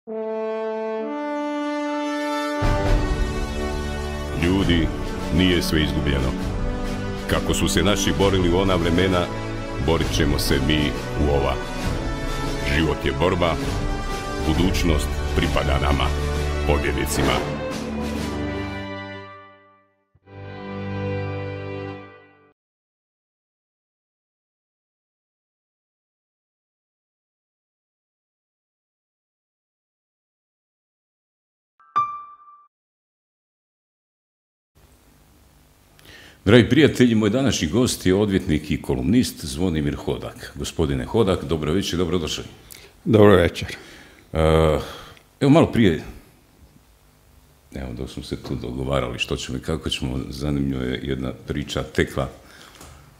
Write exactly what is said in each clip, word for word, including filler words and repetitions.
Ljudi, nije sve izgubljeno. Kako su se naši borili u ona vremena, borit ćemo se mi u ova. Život je borba, budućnost pripada nama, pobjednicima. Dragi prijatelji, moj današnji gost je odvjetnik i kolumnist Zvonimir Hodak. Gospodine Hodak, dobro večer, dobrodošli. Dobro večer. Uh, evo malo prije, evo dok smo se tu dogovarali što ćemo i kako ćemo, zanimljiva je jedna priča tekla.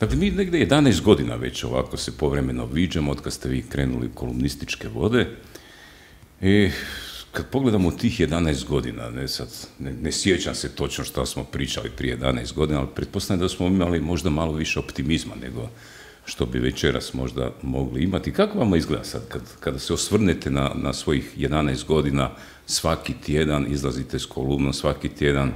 Dakle, mi negdje jedanaest godina već ovako se povremeno viđamo od kad ste vi krenuli u kolumnističke vode. I kad pogledamo tih jedanaest godina, ne, sad, ne, ne sjećam se točno što smo pričali prije jedanaest godina, ali pretpostavljam da smo imali možda malo više optimizma nego što bi večeras možda mogli imati. Kako vam izgleda sad kad, kada se osvrnete na, na svojih jedanaest godina, svaki tjedan izlazite s kolumnom, svaki tjedan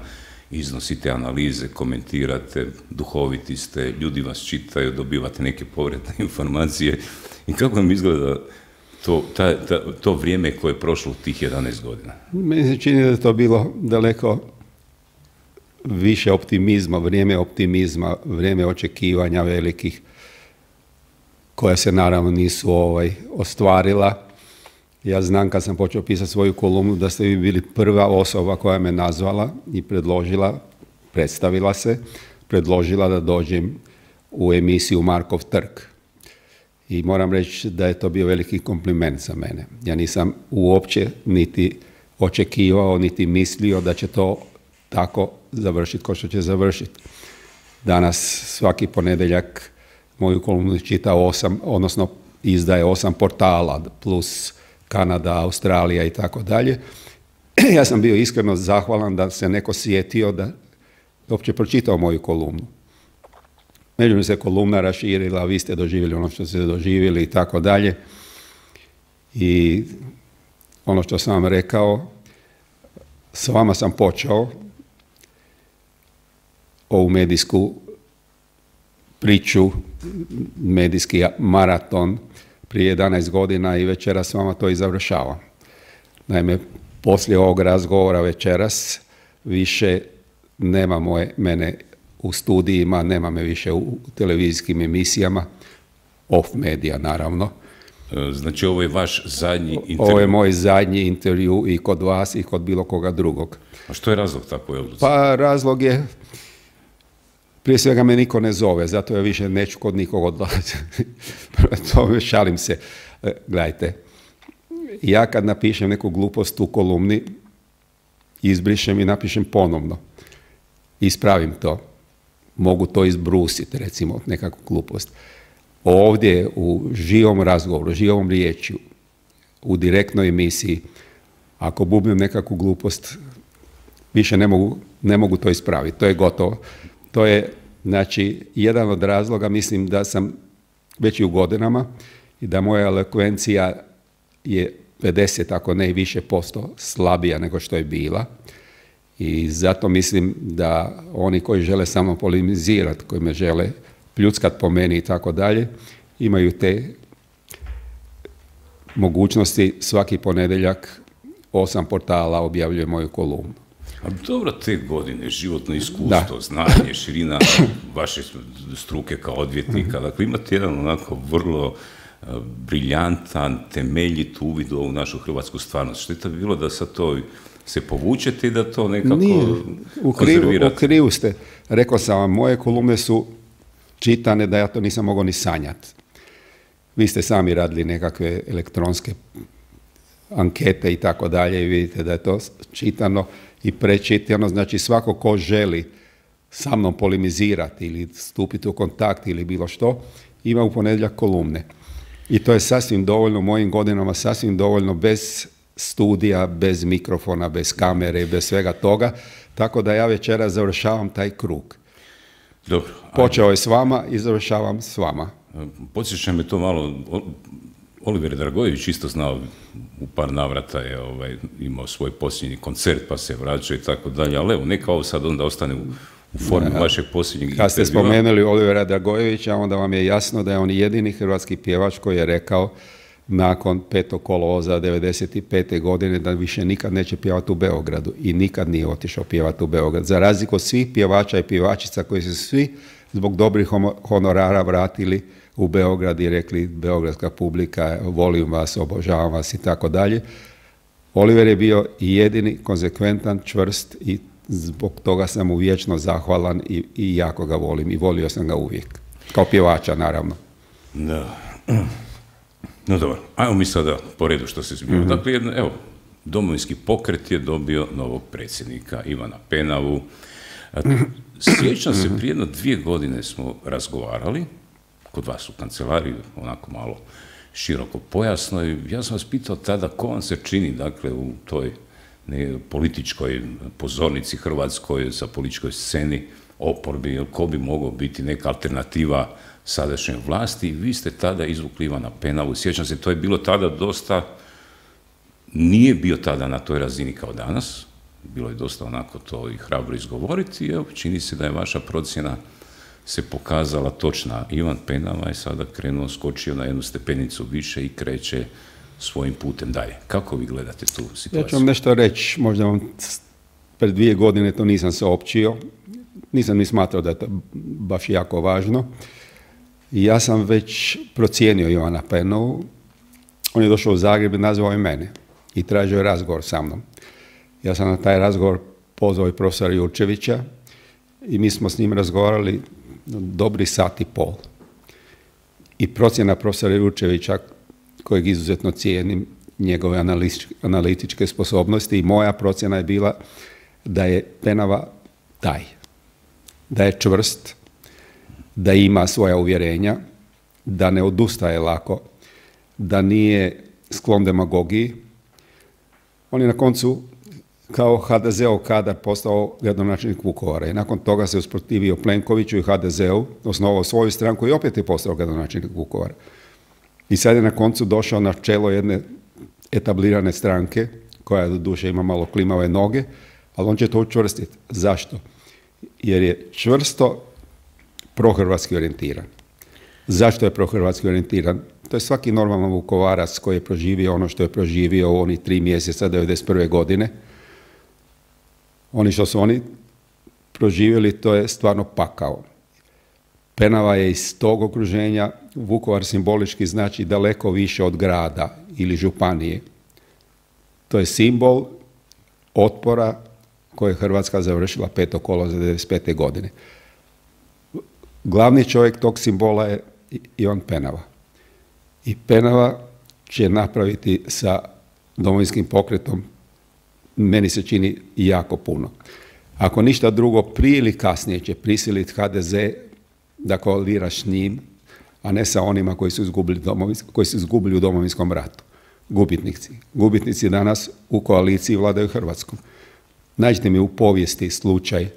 iznosite analize, komentirate, duhoviti ste, ljudi vas čitaju, dobivate neke povratne informacije i kako vam izgleda To, ta, ta, to vrijeme koje je prošlo u tih jedanaest godina? Meni se čini da je to bilo daleko više optimizma, vrijeme optimizma, vrijeme očekivanja velikih, koja se naravno nisu ovaj, ostvarila. Ja znam kad sam počeo pisati svoju kolumnu da ste vi bili prva osoba koja me nazvala i predložila, predstavila se, predložila da dođem u emisiju Markov trg. I moram reći da je to bio veliki kompliment za mene. Ja nisam uopće niti očekivao, niti mislio da će to tako završiti kao što će završiti. Danas svaki ponedjeljak moju kolumnu čita osam, odnosno izdaje osam portala, plus Kanada, Australija i tako dalje. Ja sam bio iskreno zahvalan da se neko sjetio da uopće pročitao moju kolumnu. Međutim se kolumna raširila, vi ste doživjeli ono što ste doživjeli i tako dalje. I ono što sam vam rekao, s vama sam počeo ovu medijsku priču, medijski maraton prije jedanaest godina i večeras s vama to i završavam. Naime, poslije ovog razgovora večeras više nema moje, mene u studijima, nema me više u televizijskim emisijama, off medija naravno. Znači ovo je vaš zadnji intervju? Ovo je moj zadnji intervju i kod vas i kod bilo koga drugog. A što je razlog takvoj odluci? Pa razlog je, prije svega me niko ne zove, zato ja više neću kod nikog odlaziti. To šalim se. Gledajte, ja kad napišem neku glupost u kolumni, izbrišem i napišem ponovno. Ispravim to. Mogu to izbrusiti, recimo, nekakvu glupost. Ovdje u živom razgovoru, živom riječju, u direktnoj emisiji, ako bubnem nekakvu glupost, više ne mogu, ne mogu to ispraviti. To je gotovo. To je, znači, jedan od razloga, mislim da sam već i u godinama i da moja elokvencija je pedeset, ako ne i više posto slabija nego što je bila. I zato mislim da oni koji žele samo polemizirati, koji me žele pljuckat po meni i tako dalje, imaju te mogućnosti. Svaki ponedjeljak osam portala objavljuje moju kolumnu. Ali dobro, te godine, životno iskustvo, da. Znanje, širina vaše struke kao odvjetnika, dakle imate jedan onako vrlo uh, briljantan, temeljit uvid u ovu našu hrvatsku stvarnost. Šteta bi bilo da sad to se povučete i da to nekako Nije, u krivu, konzervirate. U krivu ste. Rekao sam vam, moje kolumne su čitane da ja to nisam mogao ni sanjati. Vi ste sami radili nekakve elektronske ankete i tako dalje i vidite da je to čitano i prečitano. Znači svako ko želi sa mnom polemizirati ili stupiti u kontakt ili bilo što, ima u ponedjeljak kolumne. I to je sasvim dovoljno, u mojim godinama sasvim dovoljno, bez studija, bez mikrofona, bez kamere, bez svega toga. Tako da ja večeras završavam taj krug. Dobro. Počeo je s vama i završavam s vama. Podsjeća me to malo, Oliver Dragojević isto znao u par navrata je ovaj, imao svoj posljednji koncert pa se vraćao i tako dalje, ali evo, neka ovo sad onda ostane u, u formi ja, vašeg posljednjeg Kad ste spomenuli Olivera Dragojevića, onda vam je jasno da je on jedini hrvatski pjevač koji je rekao nakon petog kolovoza devedeset pete godine da više nikad neće pjevati u Beogradu i nikad nije otišao pjevati u Beograd. Za razliku od svih pjevača i pjevačica koji su svi zbog dobrih honorara vratili u Beograd i rekli beogradska publika, volim vas, obožavam vas i tako dalje. Oliver je bio jedini, konsekventan, čvrst i zbog toga sam mu vječno zahvalan i, i jako ga volim i volio sam ga uvijek. Kao pjevača, naravno. Da. No dobro, ajmo mi sada po redu što se zbilo. Mm-hmm. Dakle, jedno, evo, Domovinski pokret je dobio novog predsjednika, Ivana Penavu. Sjećam se, prije jedno dvije godine smo razgovarali, kod vas u kancelariji, onako malo široko pojasno, i ja sam vas pitao tada ko vam se čini, dakle, u toj ne, političkoj pozornici hrvatskoj, sa političkoj sceni, oporbi, ko bi mogao biti neka alternativa sadašnjoj vlasti, i vi ste tada izvukli Ivana Penavu. Sjećam se, to je bilo tada dosta, nije bio tada na toj razini kao danas, bilo je dosta onako to i hrabro izgovoriti, i evo, čini se da je vaša procjena se pokazala točna. Ivan Penava je sada krenuo, skočio na jednu stepenicu više i kreće svojim putem dalje. Kako vi gledate tu situaciju? Ja ću vam nešto reći, možda vam pred dvije godine to nisam se općio, nisam ni smatrao da je to baš jako važno. Ja sam već procijenio Ivana Penavu, on je došao u Zagreb i nazvao je mene i tražio je razgovor sa mnom. Ja sam na taj razgovor pozvao i profesora Jurčevića i mi smo s njim razgovarali dobri sat i pol. I procjena profesora Jurčevića, kojeg izuzetno cijenim, njegove analitičke sposobnosti, i moja procjena je bila da je Penava taj, da je čvrst, da ima svoja uvjerenja, da ne odustaje lako, da nije sklon demagogiji. On je na koncu kao ha de ze ov kadar postao gradonačelnik Vukovara i nakon toga se usprotivio Plenkoviću i ha de ze u, osnovao svoju stranku i opet je postao gradonačelnik Vukovara. I sad je na koncu došao na čelo jedne etablirane stranke, koja doduše ima malo klimave noge, ali on će to učvrstiti. Zašto? Jer je čvrsto prohrvatski orijentiran. Zašto je prohrvatski orijentiran? To je svaki normalan Vukovarac koji je proživio ono što je proživio u onih tri mjeseca devedeset prve godine. Oni što su oni proživjeli, to je stvarno pakao. Penava je iz tog okruženja, Vukovar simbolički znači daleko više od grada ili županije. To je simbol otpora koje je Hrvatska završila petog kolovoza devedeset pete godine. Glavni čovjek tog simbola je Ivan Penava. I Penava će napraviti sa Domovinskim pokretom, meni se čini, jako puno. Ako ništa drugo, prije ili kasnije će prisiliti ha de ze da koalira s njim, a ne sa onima koji su izgubili, koji su izgubili u Domovinskom ratu. Gubitnici. Gubitnici danas u koaliciji vladaju Hrvatskom. Nađite mi u povijesti slučaj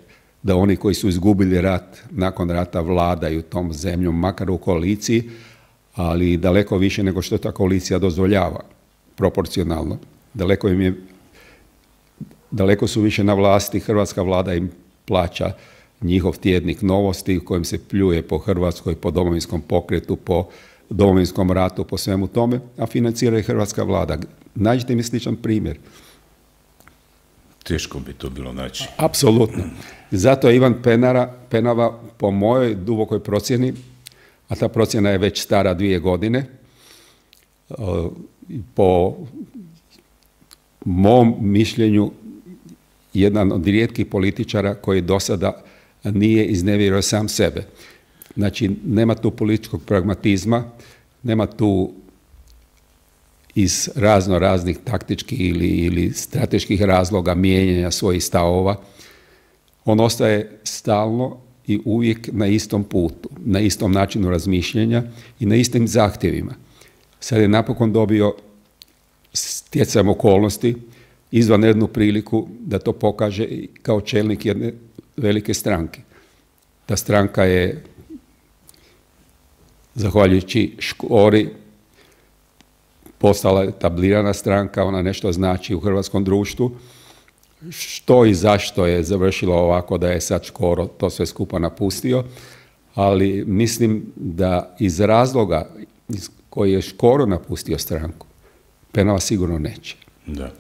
da oni koji su izgubili rat nakon rata vladaju tom zemljom, makar u koaliciji, ali daleko više nego što ta koalicija dozvoljava, proporcionalno. Daleko im je, daleko su više na vlasti, hrvatska vlada im plaća njihov tjednik Novosti u kojem se pljuje po Hrvatskoj, po Domovinskom pokretu, po Domovinskom ratu, po svemu tome, a financira i hrvatska vlada. Nađite mi sličan primjer. Teško bi to bilo naći. Apsolutno. Zato je Ivan Penara, Penava po mojoj dubokoj procjeni, a ta procjena je već stara dvije godine, po mom mišljenju jedan od rijetkih političara koji do sada nije iznevjerio sam sebe. Znači, nema tu političkog pragmatizma, nema tu iz razno raznih taktičkih ili, ili strateških razloga mijenjanja svojih stavova. On ostaje stalno i uvijek na istom putu, na istom načinu razmišljanja i na istim zahtjevima. Sad je napokon dobio stjecajem okolnosti izvanrednu priliku da to pokaže kao čelnik jedne velike stranke. Ta stranka je, zahvaljujući Škori, postala etablirana stranka, ona nešto znači u hrvatskom društvu. Što i zašto je završilo ovako da je sad Škoro to sve skupa napustio, ali mislim da iz razloga iz koji je Škoro napustio stranku, Penava sigurno neće. Da.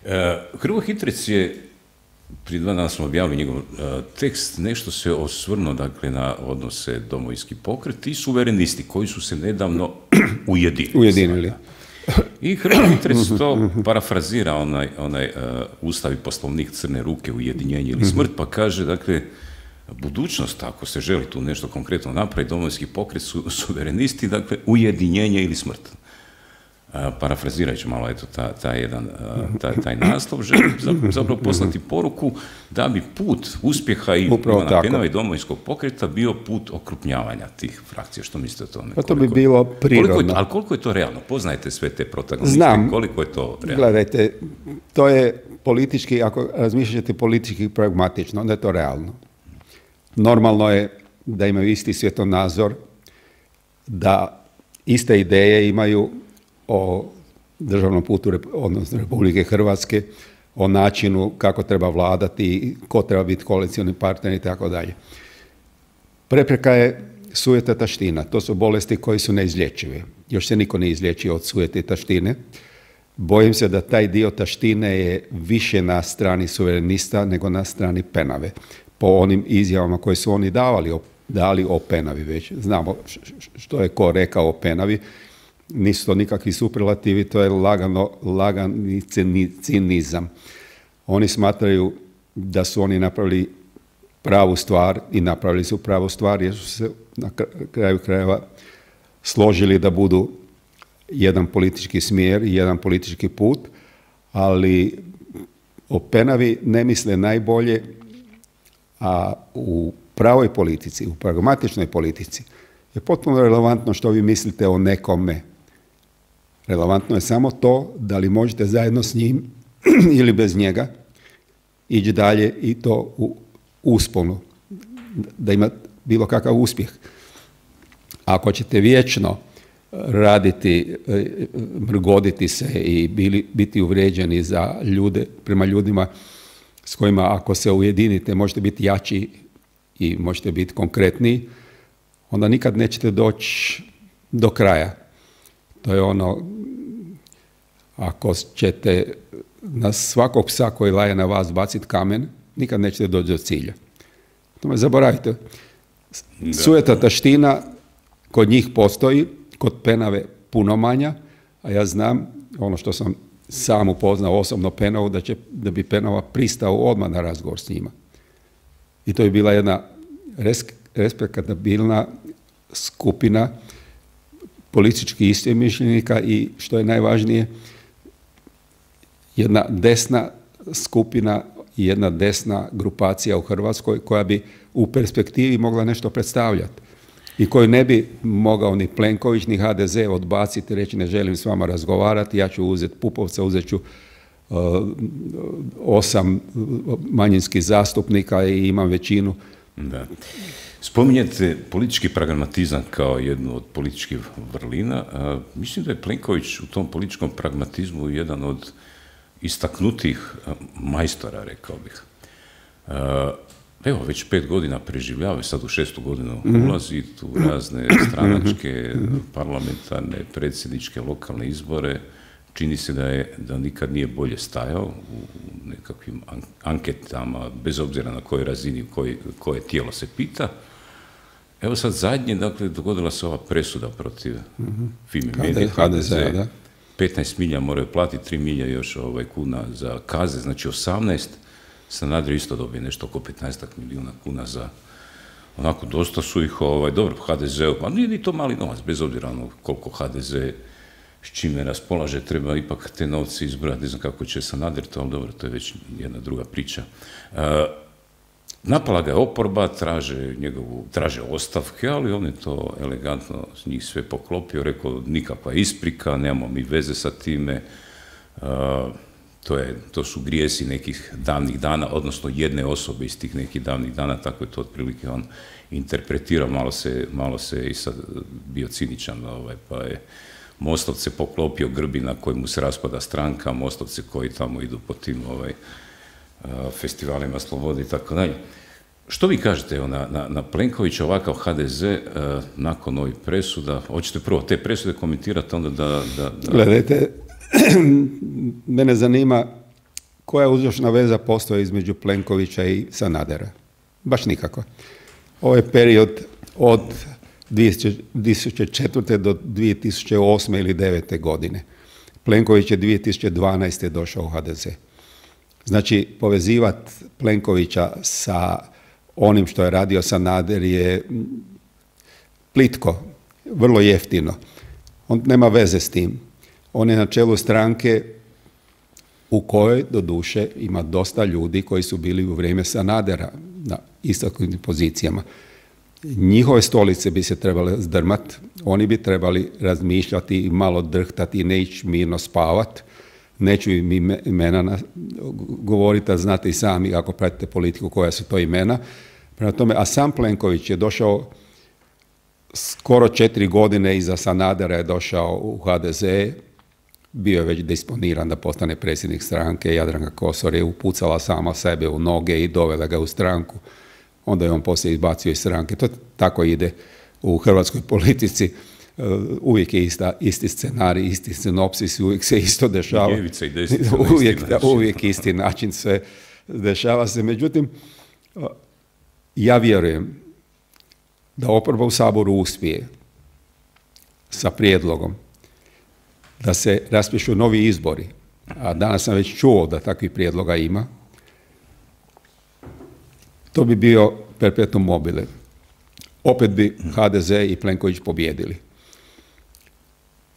E, Hrvoje Hitrec je, prije dva dana smo objavili njegov e, tekst, nešto se osvrnuo dakle, na odnose Domovinski pokret i suverenisti koji su se nedavno ujedinili. Ujedinili. I Hrvoje Hitrec to parafrazira onaj, onaj uh, Ustav i Poslovnik Crne ruke, ujedinjenje ili smrt, pa kaže, dakle, budućnost, ako se želi tu nešto konkretno napraviti, Domovinski pokret su suverenisti, dakle, ujedinjenje ili smrt. Uh, parafrazirajući malo, eto, ta, ta jedan, uh, ta, taj naslov, želi zapravo poslati poruku da bi put uspjeha i Ivana Penave i Domovinskog pokreta bio put okrupnjavanja tih frakcija. Što mislite o tome? Pa to bi bilo prirodno. Koliko je, ali koliko je to realno? Poznajete sve te protagoniste? Znam. Koliko je to realno? Gledajte, to je politički, ako razmišljate politički pragmatično, onda je to realno. Normalno je da imaju isti svjetonazor, da iste ideje imaju o državnom putu, odnosno Republike Hrvatske, o načinu kako treba vladati, ko treba biti koalicioni partner i tako dalje. Prepreka je sujeta i taština. To su bolesti koji su neizlječive. Još se niko ne izlječio od sujete i taštine. Bojim se da taj dio taštine je više na strani suverenista nego na strani Penave. Po onim izjavama koje su oni davali o, dali o Penavi već. Znamo što je ko rekao o Penavi. Nisu to nikakvi superlativi, to je lagano, lagani cinizam. Oni smatraju da su oni napravili pravu stvar i napravili su pravu stvar jer su se na kraju krajeva složili da budu jedan politički smjer i jedan politički put, ali o Penavi ne misle najbolje, a u pravoj politici, u pragmatičnoj politici je potpuno relevantno što vi mislite o nekome. Relevantno je samo to da li možete zajedno s njim ili bez njega ići dalje i to u usponu, da ima bilo kakav uspjeh. Ako ćete vječno raditi, mrgoditi se i bili, biti uvrijeđeni za ljude, prema ljudima s kojima ako se ujedinite možete biti jači i možete biti konkretniji, onda nikad nećete doći do kraja. To je ono, ako ćete na svakog psa koji laje na vas baciti kamen, nikad nećete doći do cilja. Tome zaboravite. Sujeta taština kod njih postoji, kod Penave puno manja, a ja znam, ono što sam sam upoznao osobno Penavu, da, će, da bi Penava pristao odmah na razgovor s njima. I to je bila jedna res, respektabilna skupina političkih istomišljenika i, što je najvažnije, jedna desna skupina i jedna desna grupacija u Hrvatskoj koja bi u perspektivi mogla nešto predstavljati i koju ne bi mogao ni Plenković ni H D Z odbaciti i reći ne želim s vama razgovarati, ja ću uzeti Pupovca, uzet ću uh, osam manjinskih zastupnika i imam većinu. Da. Spominjete politički pragmatizam kao jednu od političkih vrlina. A, mislim da je Plenković u tom političkom pragmatizmu jedan od istaknutih majstora, rekao bih. A, evo, već pet godina preživljava, sad u šestu godinu ulazi tu razne stranačke, parlamentarne, predsjedničke, lokalne izbore. Čini se da je, da nikad nije bolje stajao u nekakvim anketama, bez obzira na kojoj razini, koji, koje tijelo se pita. Evo sad zadnje, dakle, dogodila se ova presuda protiv mm-hmm. Fimi Medije, H D Z, da. petnaest milija moraju platiti, tri milija još ovaj, kuna za kaze, znači osamnaest. Sanader isto dobije nešto oko petnaest milijuna kuna za, onako, dosta su ih, ovaj, dobro, H D Z-u, pa nije ni to mali novac, bez obzira ono koliko H D Z s čime raspolaže, treba ipak te novce izbrojati, ne znam kako će Sanader to, ali dobro, to je već jedna druga priča. Uh, napala ga je oporba, traže njegovu, traže ostavke, ali on je to elegantno s njih sve poklopio, rekao nikakva isprika, nemamo mi veze sa time, uh, to, je, to su grijesi nekih davnih dana, odnosno jedne osobe iz tih nekih davnih dana, tako je to otprilike on interpretirao, malo se, malo se i sad bio ciničan, ovaj, pa je Mostovce poklopio Grbina koji mu se raspada stranka, Mostovci koji tamo idu po tim ovaj, festivalima slobode i tako dalje. Što vi kažete evo, na, na, na Plenkovića, ovakav ha de ze uh, nakon ovih presuda? Hoćete prvo te presude komentirati, onda da... da, da... Gledajte, mene zanima koja uzročna veza postoji između Plenkovića i Sanadera. Baš nikako. Ovo je period od dvije tisuće četvrte do dvije tisuće osme ili devete godine. Plenković je dvije tisuće dvanaeste došao u ha de ze. Znači, povezivati Plenkovića sa onim što je radio Sanader je plitko, vrlo jeftino. On nema veze s tim. On je na čelu stranke u kojoj, doduše, ima dosta ljudi koji su bili u vrijeme Sanadera na istaknutim pozicijama. Njihove stolice bi se trebale zdrmati, oni bi trebali razmišljati i malo drhtati i ne ići mirno spavati. Neću im imena govoriti, a znate i sami ako pratite politiku koja su to imena. Prema tome, a sam Plenković je došao skoro četiri godine iza Sanadera je došao u ha de ze, bio je već disponiran da postane predsjednik stranke, Jadranka Kosor je upucala sama sebe u noge i dovela ga u stranku, onda je on poslije izbacio iz stranke. To tako ide u hrvatskoj politici. Uvijek je ista, isti scenarij, isti sinopsis, uvijek se isto dešava. Ljevica i desnica, uvijek, isti način. uvijek isti način sve dešava se. Međutim, ja vjerujem da oporba u Saboru uspije sa prijedlogom da se raspišu novi izbori, a danas sam već čuo da takvih prijedloga ima, to bi bio perpetuum mobile. Opet bi ha de ze i Plenković pobjedili.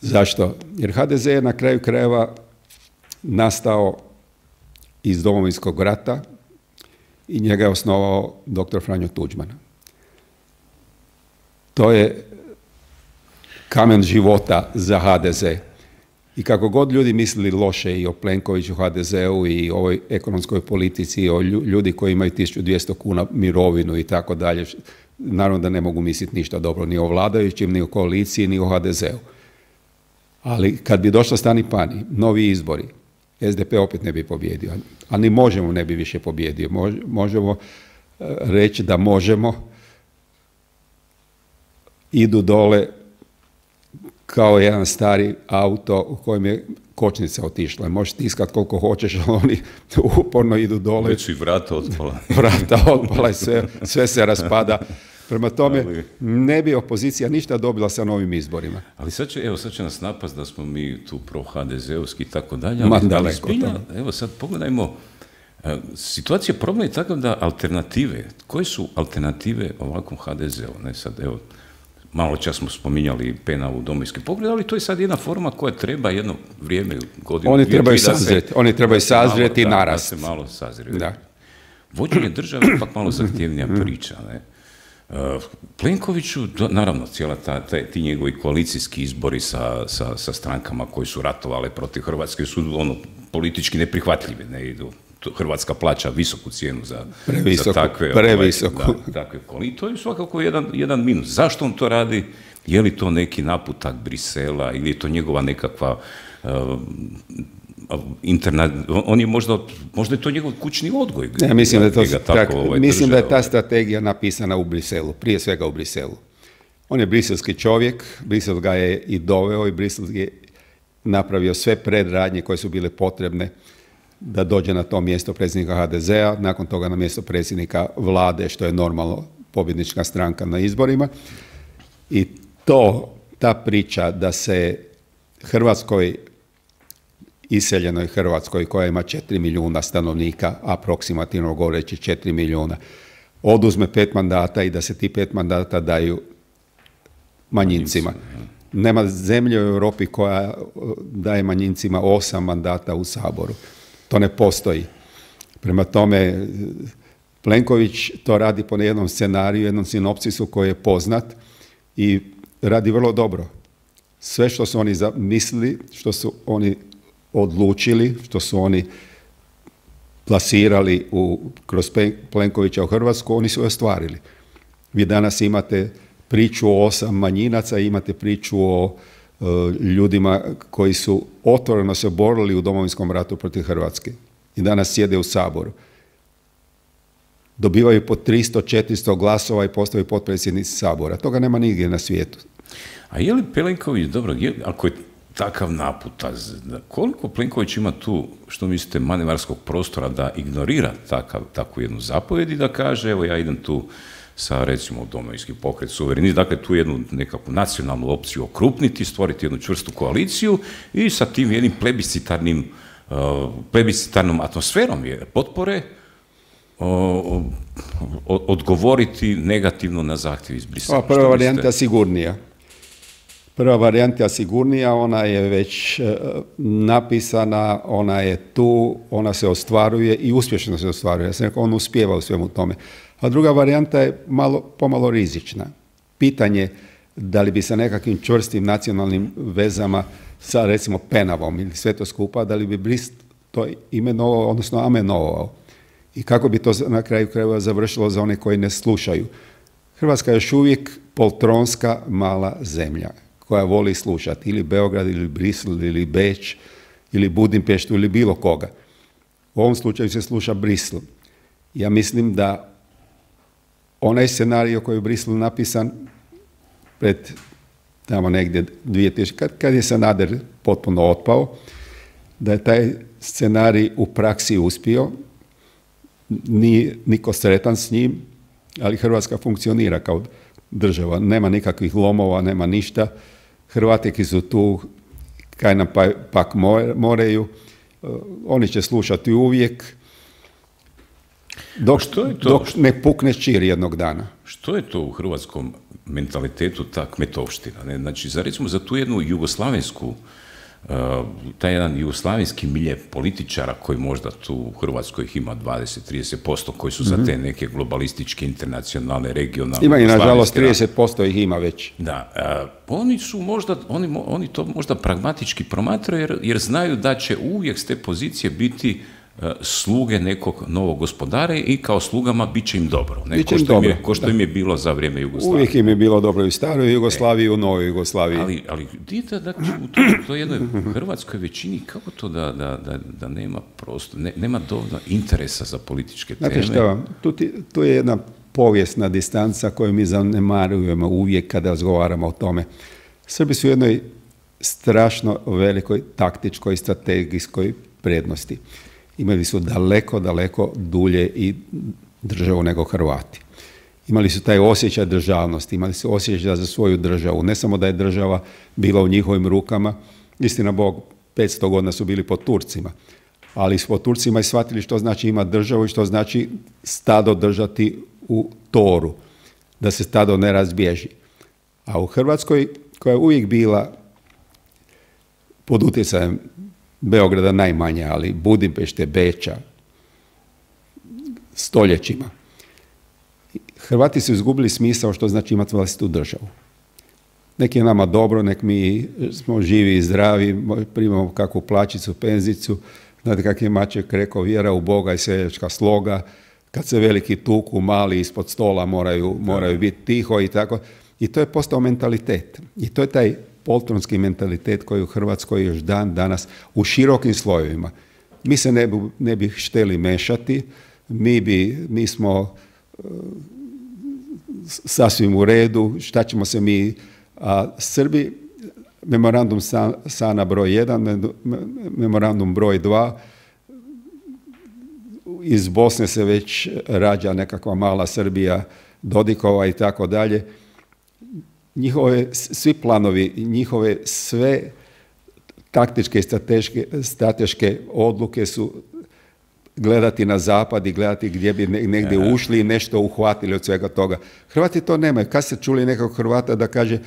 Zašto? Jer ha de ze je na kraju krajeva nastao iz Domovinskog rata i njega je osnovao doktor Franjo Tuđman. To je kamen života za ha de ze. I kako god ljudi mislili loše i o Plenkoviću, ha de zeu i ovoj ekonomskoj politici, i o ljudi koji imaju tisuću dvjesto kuna mirovinu i tako dalje, naravno da ne mogu misliti ništa dobro ni o vladajućim, ni o koaliciji, ni o ha de zeu. Ali kad bi došlo stani pani, novi izbori, es de pe opet ne bi pobjedio. A ni Možemo ne bi više pobjedio. Možemo reći da Možemo idu dole kao jedan stari auto u kojem je kočnica otišla. Možeš tiskati koliko hoćeš, ali oni uporno idu dole. Već su i vrata otpala. Vrata otpala i sve, sve se raspada. Prema tome, ali ne bi opozicija ništa dobila sa novim izborima. Ali sad će, evo, sad će nas napast da smo mi tu pro-ha de zeovski i tako dalje. Ma ali, daleko. Ali zbilja, evo sad pogledajmo, situacija problem je tako da alternative, koje su alternative ovakvom ha de zeu? Ne sad, evo, malo čas smo spominjali Pena u Domovinski pokret, ali to je sad jedna forma koja treba jedno vrijeme, godinu. Oni trebaju sazreti, oni trebaju sazreti i narast. Da se malo sazreti. Da. Vođenje države je pak malo zahtjevnija priča, ne? Uh, Plenkoviću, do, naravno, cijela ta, ta, ti njegovi koalicijski izbori sa, sa, sa strankama koji su ratovale protiv Hrvatske su ono, politički neprihvatljivi, ne idu. Hrvatska plaća visoku cijenu za, previsoku, za takve, previsoku. Ovaj, da, takve koalicije. To je svakako jedan, jedan minus. Zašto on to radi? Je li to neki naputak Brisela ili je to njegova nekakva uh, interna, on je možda, možda je to njegov kućni odgoj. Ne, mislim da, je to, tako, tak, ovaj, mislim država, da je ta strategija napisana u Briselu, prije svega u Briselu. On je briselski čovjek, Brisel ga je i doveo i Brisel je napravio sve predradnje koje su bile potrebne da dođe na to mjesto predsjednika ha de zea, nakon toga na mjesto predsjednika vlade, što je normalno pobjednička stranka na izborima. I to, ta priča da se Hrvatskoj, iseljenoj Hrvatskoj koja ima četiri milijuna stanovnika, aproksimativno govoreći četiri milijuna, oduzme pet mandata i da se ti pet mandata daju manjincima. Nema zemlje u Europi koja daje manjincima osam mandata u Saboru. To ne postoji. Prema tome, Plenković to radi po jednom scenariju, jednom sinopsisu koji je poznat i radi vrlo dobro. Sve što su oni zamislili, što su oni odlučili, što su oni plasirali u, kroz Plenkovića u Hrvatsku, oni su ostvarili. Vi danas imate priču o osam manjinaca, imate priču o ljudima koji su otvoreno se borili u Domovinskom ratu protiv Hrvatske i danas sjede u Saboru. Dobivaju po tristo četiristo glasova i postaju potpredsjednici Sabora. Toga nema nigdje na svijetu. A je li Plenković, dobro, je, ako je takav naputaz, koliko Plenković ima tu, što mislite, manevarskog prostora da ignorira takav, takvu jednu zapovjed i da kaže, evo ja idem tu sa, recimo, Domovinski pokret, suverenist, dakle tu jednu nekakvu nacionalnu opciju okrupniti, stvoriti jednu čvrstu koaliciju i sa tim jednim plebiscitarnim, uh, plebiscitarnom atmosferom potpore o, o, odgovoriti negativno na zahtjev iz Brisela. Prva varijanta sigurnija. Prva varijanta sigurnija, ona je već e, napisana, ona je tu, ona se ostvaruje i uspješno se ostvaruje. Ja sam rekao, on uspijeva u svemu tome. A druga varijanta je malo, pomalo rizična. Pitanje da li bi sa nekakvim čvrstim nacionalnim vezama sa, recimo, Penavom ili sve to skupa, da li bi Brist to imenovao, odnosno amenovao. I kako bi to na kraju krajeva završilo za one koji ne slušaju. Hrvatska je još uvijek poltronska mala zemlja koja voli slušati ili Beograd, ili Brisel, ili Beč, ili Budimpeštu, ili bilo koga. U ovom slučaju se sluša Brisel. Ja mislim da onaj scenarij koji je u Briselu napisan pred tamo negdje dvije tisuće, kad, kad je Sanader potpuno otpao, da je taj scenarij u praksi uspio, nije niko sretan s njim, ali Hrvatska funkcionira kao država. Nema nikakvih lomova, nema ništa. Hrvatiki su tu, kaj nam pa, pak moreju. Uh, oni će slušati uvijek. Dok, što je to? Dok ne pukne čir jednog dana. Što je to u hrvatskom mentalitetu ta kmetovština? Ne? Znači, za, recimo, za tu jednu jugoslavensku, uh, taj jedan jugoslavenski milje političara koji možda tu u Hrvatskoj ih ima dvadeset do trideset posto koji su mm-hmm. za te neke globalističke, internacionalne, regionalne... Ima i nažalost trideset posto ih ima već. Da, uh, oni su možda, oni, oni to možda pragmatički promatraju jer, jer znaju da će uvijek s te pozicije biti sluge nekog novog gospodara i kao slugama bit će im dobro. Ne? Ko, što dobro. Im je, ko što im je bilo za vrijeme Jugoslavije. Uvijek im je bilo dobro i u staroj Jugoslaviji i u novoj Jugoslaviji. Ali, ali vidite da u toj, toj jednoj hrvatskoj većini kako to da, da, da, da nema prostor, ne, nema dovoljno interesa za političke teme. Znate šta vam, tu, ti, tu je jedna povijesna distanca koju mi zanemarujemo uvijek kada razgovaramo o tome. Srbi su u jednoj strašno velikoj taktičkoj i strategijskoj prednosti. Imali su daleko, daleko dulje i državu nego Hrvati. Imali su taj osjećaj državnosti, imali su osjećaj za svoju državu. Ne samo da je država bila u njihovim rukama, istina Bog, petsto godina su bili pod Turcima, ali su pod Turcima i shvatili što znači imati državu i što znači stado držati u toru, da se stado ne razbježi. A u Hrvatskoj, koja je uvijek bila pod utjecajem Beograda najmanje, ali Budimpešte, Beča, stoljećima. Hrvati su izgubili smisao što znači imati vlastitu državu. Nek je nama dobro, nek mi smo živi i zdravi, primamo kakvu plaćicu, penzicu, znate kak je Maček rekao, vjera u Boga i seljačka sloga, kad se veliki tuku, mali ispod stola moraju, moraju biti tiho i tako. I to je postao mentalitet. I to je taj poltronski mentalitet koji u Hrvatskoj još dan danas u širokim slojevima. Mi se ne bi, ne bi htjeli mešati, mi, bi, mi smo uh, sasvim u redu, šta ćemo se mi... A Srbi, memorandum Sana broj jedan, memorandum broj dva, iz Bosne se već rađa nekakva mala Srbija, Dodikova i tako dalje. Njihove, svi planovi, njihove sve taktičke i strateške, strateške odluke su gledati na zapad i gledati gdje bi negdje ušli i nešto uhvatili od svega toga. Hrvati to nemaju. Kad ste čuli nekog Hrvata da kaže,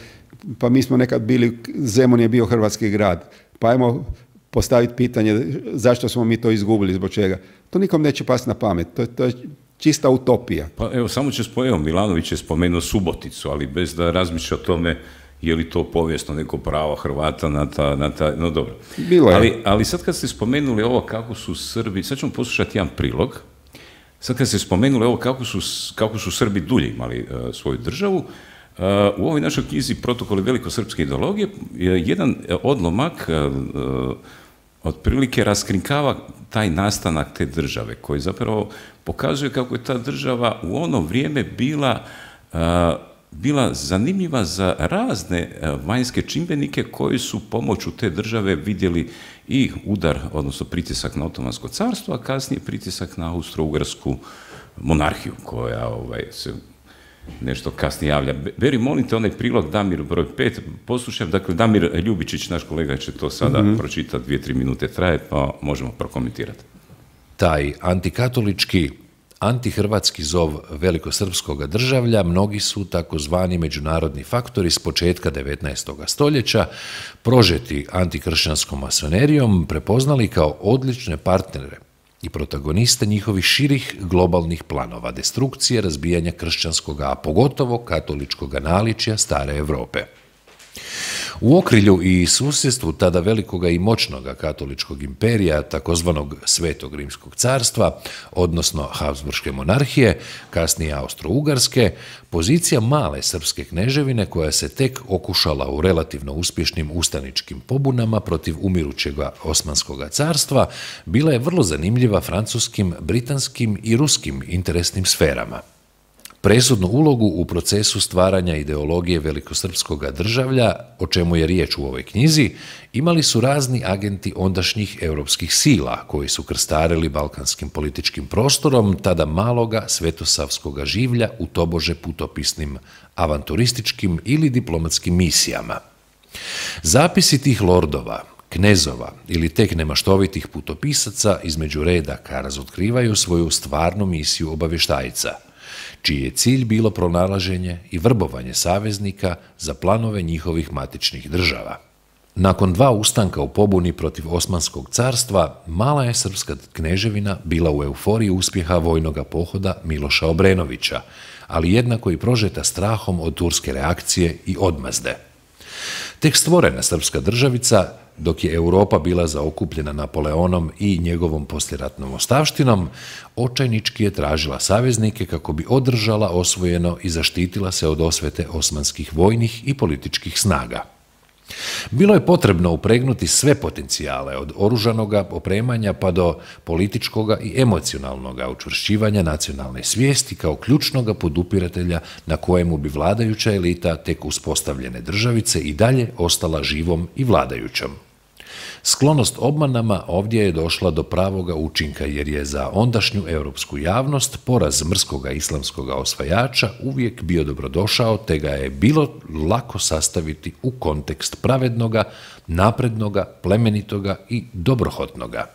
pa mi smo nekad bili, Zemun je bio hrvatski grad, pa ajmo postaviti pitanje zašto smo mi to izgubili, zbog čega. To nikom neće pasti na pamet. To, to je čista utopija. Pa evo, samo će spomenuti, Milanović je spomenuo Suboticu, ali bez da razmišlja o tome je li to povijesno neko pravo Hrvata na ta, na ta, no dobro. Bilo je. Ali, ali sad kad ste spomenuli ovo kako su Srbi, sad ćemo poslušati jedan prilog, sad kad ste spomenuli ovo kako su, kako su Srbi dulje imali uh, svoju državu, uh, u ovoj našoj knjizi Protokoli velikosrpske ideologije jedan odlomak otprilike raskrinkava taj nastanak te države, koji zapravo pokazuje kako je ta država u ono vrijeme bila, bila zanimljiva za razne vanjske čimbenike koji su pomoću te države vidjeli i udar, odnosno pritisak na Otomansko carstvo, a kasnije pritisak na Austro-Ugarsku monarhiju, koja ovaj, se nešto kasnije javlja. Beri, molim te, onaj prilog Damir broj pet, poslušaj, dakle, Damir Ljubičić, naš kolega, će to sada mm-hmm. pročitati, dvije, tri minute traje, pa možemo prokomentirati. Taj antikatolički, antihrvatski zov velikosrpskog državlja mnogi su takozvani međunarodni faktori s početka devetnaestog stoljeća, prožeti antikršćanskom masonerijom, prepoznali kao odlične partnere i protagoniste njihovih širih globalnih planova destrukcije, razbijanja kršćanskog, a pogotovo katoličkog naličja stare Europe. U okrilju i susjedstvu tada velikoga i moćnoga katoličkog imperija, takozvanog Svetog rimskog carstva, odnosno Habsburške monarhije, kasnije Austro-Ugarske, pozicija male srpske kneževine koja se tek okušala u relativno uspješnim ustaničkim pobunama protiv umirućeg Osmanskog carstva, bila je vrlo zanimljiva francuskim, britanskim i ruskim interesnim sferama. Presudnu ulogu u procesu stvaranja ideologije velikosrpskog državlja, o čemu je riječ u ovoj knjizi, imali su razni agenti ondašnjih europskih sila, koji su krstarili balkanskim političkim prostorom tada maloga svetosavskog življa u tobože putopisnim, avanturističkim ili diplomatskim misijama. Zapisi tih lordova, knezova ili tek nemaštovitih putopisaca između redaka razotkrivaju svoju stvarnu misiju obavještajca, čiji je cilj bilo pronalaženje i vrbovanje saveznika za planove njihovih matičnih država. Nakon dva ustanka u pobuni protiv Osmanskog carstva, mala je srpska kneževina bila u euforiji uspjeha vojnoga pohoda Miloša Obrenovića, ali jednako i prožeta strahom od turske reakcije i odmazde. Tek stvorena srpska državica, dok je Europa bila zaokupljena Napoleonom i njegovom posljeratnom ostavštinom, očajnički je tražila saveznike kako bi održala osvojeno i zaštitila se od osvete osmanskih vojnih i političkih snaga. Bilo je potrebno upregnuti sve potencijale, od oružanoga opremanja pa do političkoga i emocionalnoga učvršćivanja nacionalne svijesti kao ključnoga podupiratelja na kojemu bi vladajuća elita tek uspostavljene državice i dalje ostala živom i vladajućom. Sklonost obmanama ovdje je došla do pravoga učinka, jer je za ondašnju europsku javnost poraz mrskoga islamskoga osvajača uvijek bio dobrodošao, te ga je bilo lako sastaviti u kontekst pravednoga, naprednoga, plemenitoga i dobrohotnoga.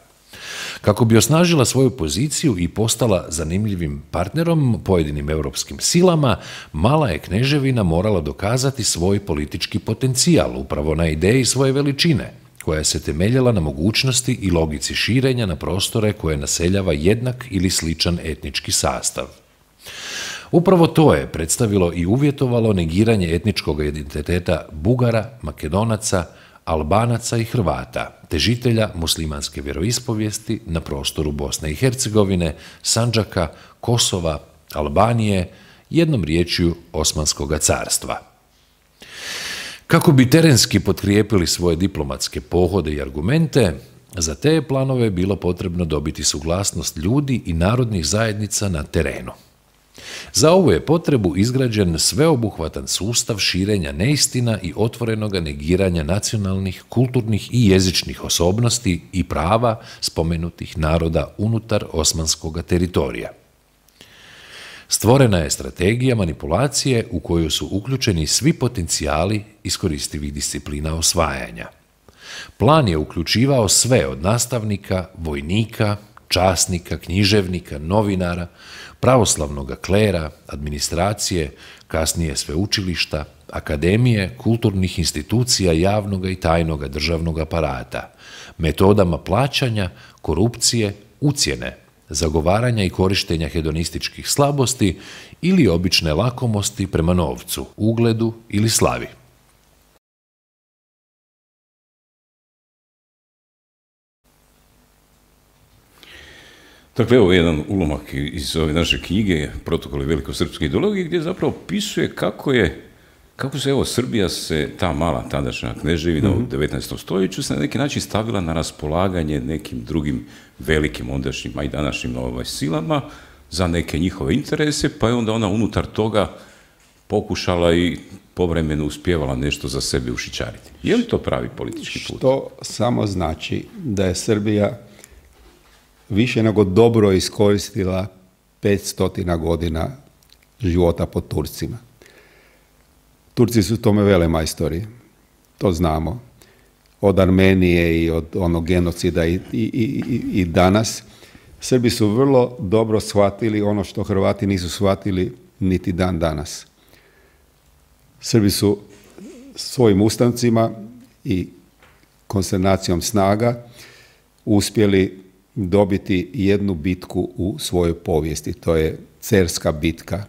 Kako bi osnažila svoju poziciju i postala zanimljivim partnerom pojedinim europskim silama, mala je kneževina morala dokazati svoj politički potencijal upravo na ideji svoje veličine, koja se temeljila na mogućnosti i logici širenja na prostore koje naseljava jednak ili sličan etnički sastav. Upravo to je predstavilo i uvjetovalo negiranje etničkog identiteta Bugara, Makedonaca, Albanaca i Hrvata, te žitelja muslimanske vjeroispovijesti na prostoru Bosne i Hercegovine, Sandžaka, Kosova, Albanije, jednom riječju Osmanskog carstva. Kako bi terenski potkrijepili svoje diplomatske pohode i argumente, za te planove je bilo potrebno dobiti suglasnost ljudi i narodnih zajednica na terenu. Za ovu je potrebu izgrađen sveobuhvatan sustav širenja neistina i otvorenoga negiranja nacionalnih, kulturnih i jezičnih osobnosti i prava spomenutih naroda unutar osmanskog teritorija. Stvorena je strategija manipulacije u koju su uključeni svi potencijali iskoristivih disciplina osvajanja. Plan je uključivao sve od nastavnika, vojnika, časnika, književnika, novinara, pravoslavnog klera, administracije, kasnije sveučilišta, akademije, kulturnih institucija javnog i tajnog državnog aparata, metodama plaćanja, korupcije, ucjene, zagovaranja i korištenja hedonističkih slabosti ili obične lakomosti prema novcu, ugledu ili slavi. Dakle, evo jedan ulomak iz ove naše knjige Protokoli velikosrpske ideologije, gdje zapravo opisuje kako je kako se, evo, Srbija se, ta mala tadašnja kneževina mm-hmm. u devetnaestom stoljeću se na neki način stavila na raspolaganje nekim drugim velikim ondašnjim, a i današnjim ovaj, silama za neke njihove interese, pa je onda ona unutar toga pokušala i povremeno uspijevala nešto za sebe ušićariti. Je li to pravi politički put? To samo znači da je Srbija više nego dobro iskoristila petstotina godina života pod Turcima. Turci su tome velemajstori, to znamo. Od Armenije i od onog genocida i, i, i, i danas. Srbi su vrlo dobro shvatili ono što Hrvati nisu shvatili niti dan danas. Srbi su svojim ustancima i konsternacijom snaga uspjeli dobiti jednu bitku u svojoj povijesti. To je Cerska bitka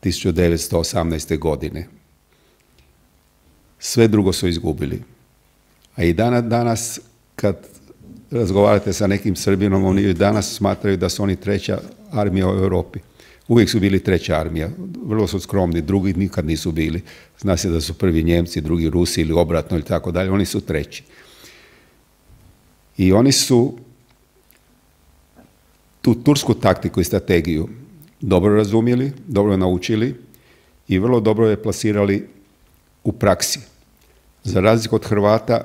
tisuću devetsto osamnaeste. godine. Sve drugo su izgubili. A i danas, danas kad razgovarate sa nekim Srbinom, oni i danas smatraju da su oni treća armija u Europi. Uvijek su bili treća armija. Vrlo su skromni, drugi nikad nisu bili. Zna se da su prvi Njemci, drugi Rusi ili obratno ili tako dalje. Oni su treći. I oni su tu tursku taktiku i strategiju dobro razumjeli, dobro naučili i vrlo dobro je plasirali u praksi. Za razliku od Hrvata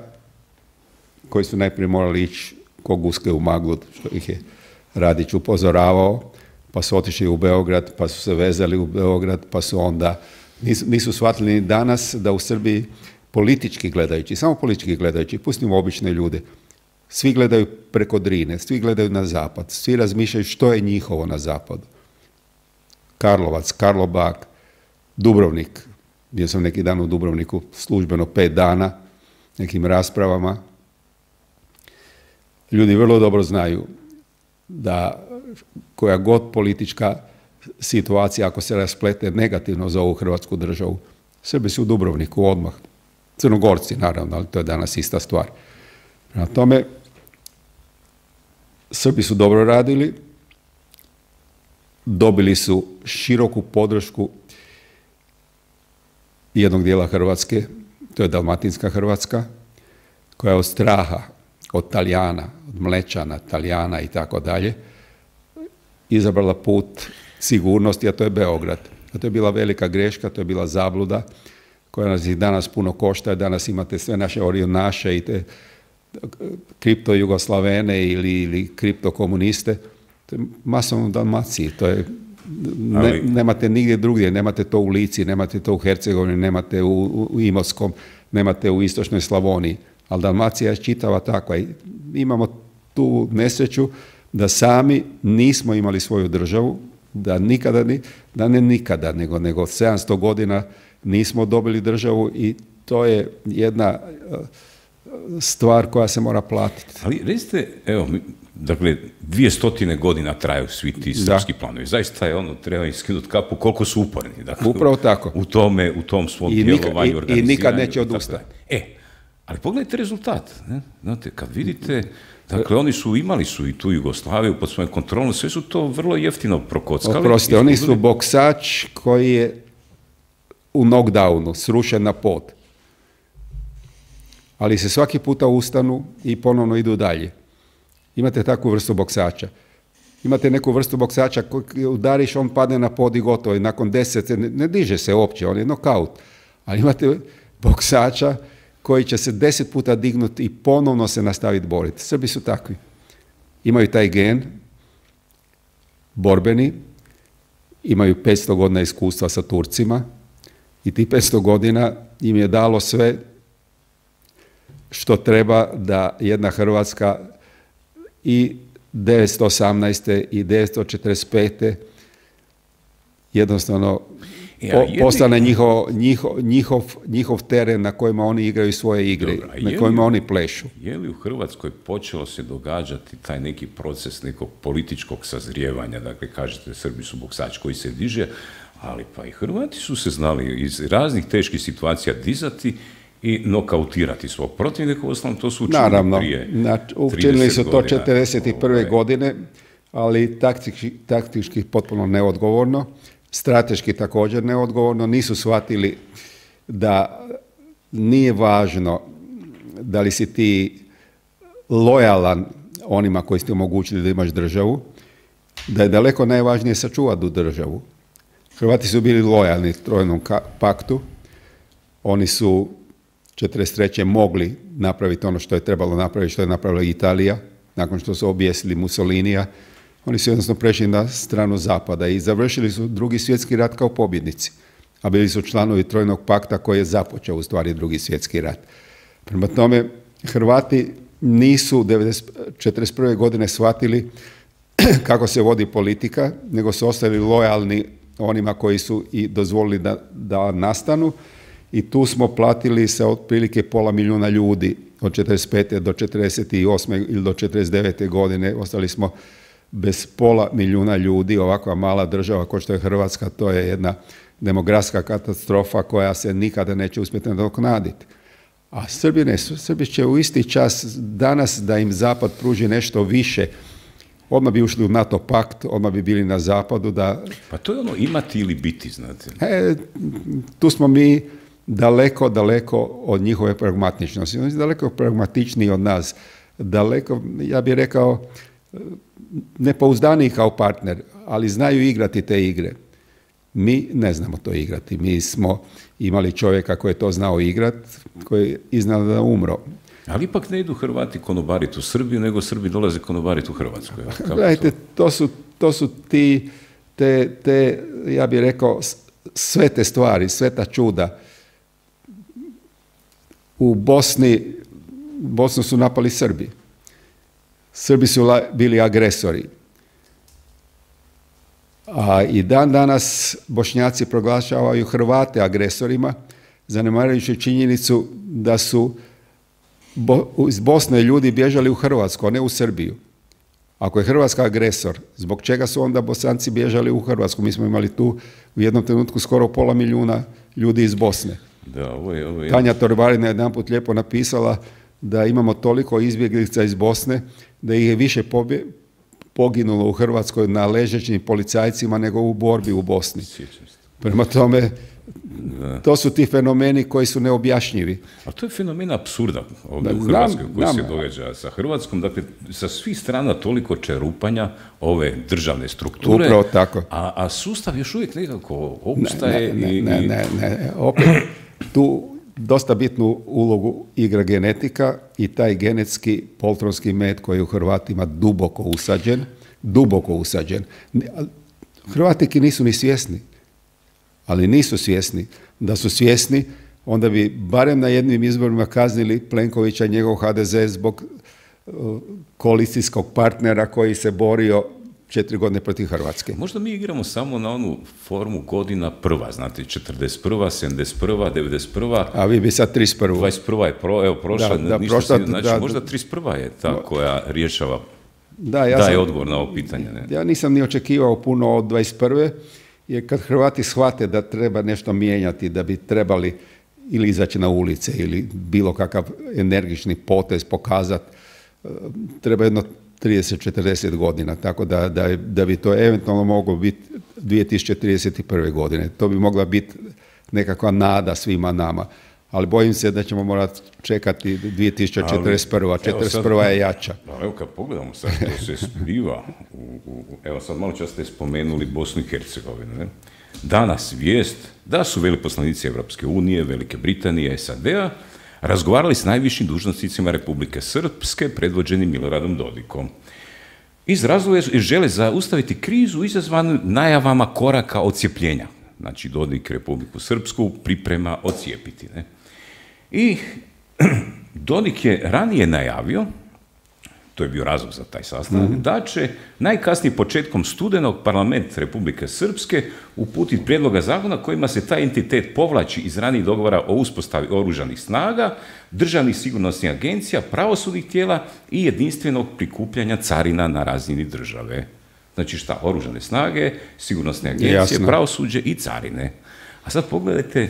koji su najprije morali ići ko guske u maglu, što ih je Radić upozoravao, pa su otišli u Beograd, pa su se vezali u Beograd, pa su onda, nisu, nisu shvatili ni danas da u Srbiji politički gledajući, samo politički gledajući, pustimo obične ljude, svi gledaju preko Drine, svi gledaju na zapad, svi razmišljaju što je njihovo na zapadu. Karlovac, Karlobag, Dubrovnik, bio sam neki dan u Dubrovniku službeno pet dana, nekim raspravama. Ljudi vrlo dobro znaju da koja god politička situacija, ako se rasplete negativno za ovu Hrvatsku državu, Srbi su u Dubrovniku odmah. Crnogorci, naravno, ali to je danas ista stvar. Prema tome, Srbi su dobro radili, dobili su široku podršku jednog dijela Hrvatske, to je Dalmatinska Hrvatska, koja je od straha, od Talijana, od Mlečana, Talijana i tako dalje, izabrala put sigurnosti, a to je Beograd. A to je bila velika greška, to je bila zabluda, koja nas i danas puno košta. Danas imate sve naše orionaše i te kripto Jugoslavene ili, ili kripto komuniste. To je masovno u Dalmaciji, to je Ne, Ali... nemate nigdje drugdje, nemate to u Lici, nemate to u Hercegovini, nemate u, u Imotskom, nemate u istočnoj Slavoniji, ali Dalmacija je čitava takva i imamo tu nesreću da sami nismo imali svoju državu, da nikada, da ne nikada, nego, nego sedamsto godina nismo dobili državu i to je jedna stvar koja se mora platiti. Ali recite, evo, dakle, dvije stotine godina traju svi ti srpski planovi. Zaista je ono, treba iskinuti kapu koliko su uporni. Dakle, upravo tako. U tome, u tom svom I djelovanju, nika, organiziranju. I nikad neće odustati. E, ali pogledajte rezultat. Ne? Znate, kad vidite, dakle, oni su imali su i tu Jugoslaviju pod svojom kontrolom, sve su to vrlo jeftino prokockali. Oprostite, oni su boksač koji je u knockdownu, srušen na pod. Ali se svaki puta ustanu i ponovno idu dalje. Imate takvu vrstu boksača. Imate neku vrstu boksača koji udariš, on padne na pod i gotovo. I nakon deset, ne, ne diže se uopće, on je nokaut. Ali imate boksača koji će se deset puta dignuti i ponovno se nastaviti boriti. Srbi su takvi. Imaju taj gen, borbeni, imaju petsto godina iskustva sa Turcima i ti petsto godina im je dalo sve što treba da jedna Hrvatska i devetsto osamnaeste i devetsto četrdeset pete jednostavno ja, jedni... postane njihov, njihov, njihov, njihov teren na kojima oni igraju svoje igre, Dobro, na kojima li, oni plešu. Je li u Hrvatskoj počelo se događati taj neki proces nekog političkog sazrijevanja? Dakle, kažete, Srbi su boksač koji se diže, ali pa i Hrvati su se znali iz raznih teških situacija dizati i nokautirati svog protivnika, osnovno to su učinili Naravno, prije znači, učinili su to četrdeset prve godine, ali taktički, taktički potpuno neodgovorno, strateški također neodgovorno, nisu shvatili da nije važno da li si ti lojalan onima koji ste omogućili da imaš državu, da je daleko najvažnije sačuvati tu državu. Hrvati su bili lojalni Trojnom paktu, oni su četrdeset treće mogli napraviti ono što je trebalo napraviti, što je napravila Italija, nakon što su objesili Mussolinija. Oni su jednostavno prešli na stranu zapada i završili su drugi svjetski rat kao pobjednici, a bili su članovi Trojnog pakta koji je započeo u stvari drugi svjetski rat. Prema tome, Hrvati nisu četrdeset prve godine shvatili kako se vodi politika, nego su ostali lojalni onima koji su i dozvolili da, da nastanu, i tu smo platili sa otprilike pola milijuna ljudi od četrdeset pete do četrdeset osme ili do četrdeset devete godine. Ostali smo bez pola milijuna ljudi. Ovakva mala država kao što je Hrvatska, to je jedna demografska katastrofa koja se nikada neće uspjeti nadoknaditi. A Srbi ne su. Srbi će u isti čas danas da im Zapad pruži nešto više. Odmah bi ušli u NATO pakt, odmah bi bili na Zapadu. Da... Pa to je ono imati ili biti, znate. E, tu smo mi daleko, daleko od njihove pragmatičnosti. Oni su daleko pragmatičniji od nas. Daleko, ja bih rekao, nepouzdaniji kao partner, ali znaju igrati te igre. Mi ne znamo to igrati. Mi smo imali čovjeka koji je to znao igrati, koji je iznenada umro. Ali ipak ne idu Hrvati konobariti u Srbiju, nego Srbi dolaze konobariti u Hrvatsku. Gledajte, to su, to su ti, te, te, ja bih rekao, sve te stvari, sve ta čuda. U Bosni, Bosnu su napali Srbi. Srbi su la, bili agresori. A i dan danas Bošnjaci proglašavaju Hrvate agresorima, zanemarujući činjenicu da su Bo, iz Bosne ljudi bježali u Hrvatsku, a ne u Srbiju. Ako je Hrvatska agresor, zbog čega su onda Bosanci bježali u Hrvatsku? Mi smo imali tu u jednom trenutku skoro pola milijuna ljudi iz Bosne. Da, ovo je, ovo je... Tanja Torbarina je jedanput lijepo napisala da imamo toliko izbjeglica iz Bosne da ih je više pobje, poginulo u Hrvatskoj na ležećim policajcima nego u borbi u Bosni. Prema tome, da. To su ti fenomeni koji su neobjašnjivi. A to je fenomen apsurda ovdje da, u Hrvatskoj koji znam, se događa sa Hrvatskom. Dakle, sa svih strana toliko čerupanja ove državne strukture. Upravo tako. A, a sustav još uvijek nekako opstaje. Ne, ne, i, ne, ne, ne. Opet, tu dosta bitnu ulogu igra genetika i taj genetski poltronski med koji je u Hrvatima duboko usađen. Duboko usađen. Hrvatiki nisu ni svjesni. Ali nisu svjesni. Da su svjesni, onda bi barem na jednim izborima kaznili Plenkovića i njegov ha de ze zbog uh, koalicijskog partnera koji se borio četiri godine protiv Hrvatske. Možda mi igramo samo na onu formu godina prva, znate, četrdeset prva, sedamdeset prva, devedeset prva. A vi bi sad trideset prva. dvadeset prva je pro, evo, prošla, da, da, ništa prošla, si, znači da, možda trideset prva je ta no, koja rješava, da, ja daje sam, odgovor na ovo pitanje. Ne? Ja nisam ni očekivao puno od dvadeset prve, jer kad Hrvati shvate da treba nešto mijenjati, da bi trebali ili izaći na ulice ili bilo kakav energični potez pokazati, treba jedno trideset četrdeset godina, tako da, da, da bi to eventualno moglo biti dvije tisuće trideset prve godine. To bi mogla biti nekakva nada svima nama. Ali bojim se da ćemo morati čekati dvije tisuće četrdeset prva. četrdeset prva je jača. Evo kad pogledamo sad što se zbiva, u, u, evo sad malo čas ste spomenuli Bosnu i Hercegovinu. Ne? Danas vijest da su veleposlanici Evropske unije, Velike Britanije, es a de a razgovarali s najvišim dužnosnicima Republike Srpske predvođeni Miloradom Dodikom. Iz razloga žele zaustaviti krizu izazvanu najavama koraka odcijepljenja. Znači Dodik Republiku Srpsku priprema odcijepiti. Ne? I Dodik je ranije najavio, to je bio razlog za taj sastanak, mm-hmm. da će najkasnije početkom studenog parlament Republike Srpske uputiti prijedloga zakona kojima se taj entitet povlači iz ranijih dogovora o uspostavi oružanih snaga, državnih sigurnosnih agencija, pravosudnih tijela i jedinstvenog prikupljanja carina na razini države. Znači šta? Oružane snage, sigurnosne agencije, Jasno. pravosuđe i carine. A sad pogledajte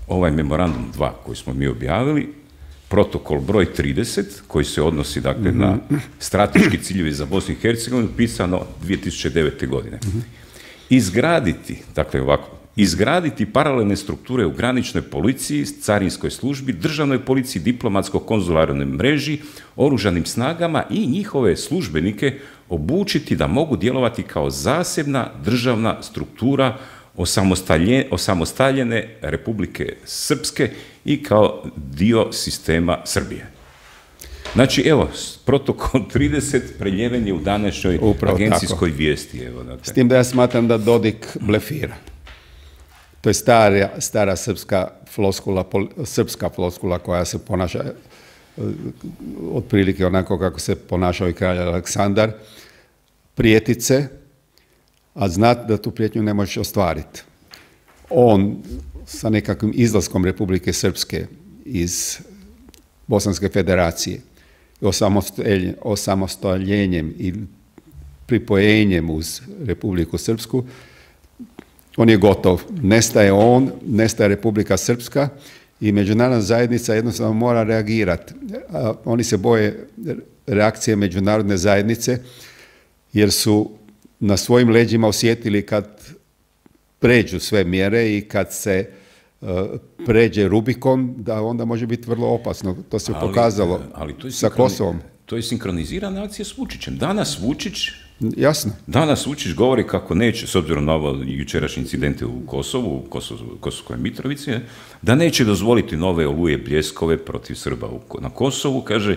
ovaj memorandum dva koji smo mi objavili, protokol broj trideset, koji se odnosi dakle, mm-hmm. na strateški ciljevi za Bosnu i Hercegovinu, pisano dvije tisuće devete. godine. Mm-hmm. Izgraditi, dakle ovako, izgraditi paralelne strukture u graničnoj policiji, carinskoj službi, državnoj policiji, diplomatsko-konzularnoj mreži, oružanim snagama i njihove službenike obučiti da mogu djelovati kao zasebna državna struktura osamostaljene Republike Srpske i kao dio sistema Srbije. Znači, evo, protokol trideset preljeven je u današnjoj Upravo agencijskoj tako. vijesti. Evo, dakle. S tim da ja smatram da Dodik blefira. To je stara, stara srpska floskula, srpska floskula koja se ponaša otprilike onako kako se ponašao i kralj Aleksandar. Prijetice, a znati da tu prijetnju ne možeš ostvariti. On sa nekakvim izlaskom Republike Srpske iz Bosanske federacije, osamostaljenjem i pripojenjem uz Republiku Srpsku, on je gotov. Nestaje on, nestaje Republika Srpska i međunarodna zajednica jednostavno mora reagirati. Oni se boje reakcije međunarodne zajednice jer su na svojim leđima osjetili kad pređu sve mjere i kad se uh, pređe Rubikon, da onda može biti vrlo opasno. To se ali, pokazalo ali to je sa Kosovom. To je sinkronizirana akcija s Vučićem. Danas Vučić Jasno. Danas Vučić govori kako neće, s obzirom na ovo jučerašnje incidente u Kosovu, u Kosovskoj Mitrovici, da neće dozvoliti nove oluje bljeskove protiv Srba na Kosovu. Kaže,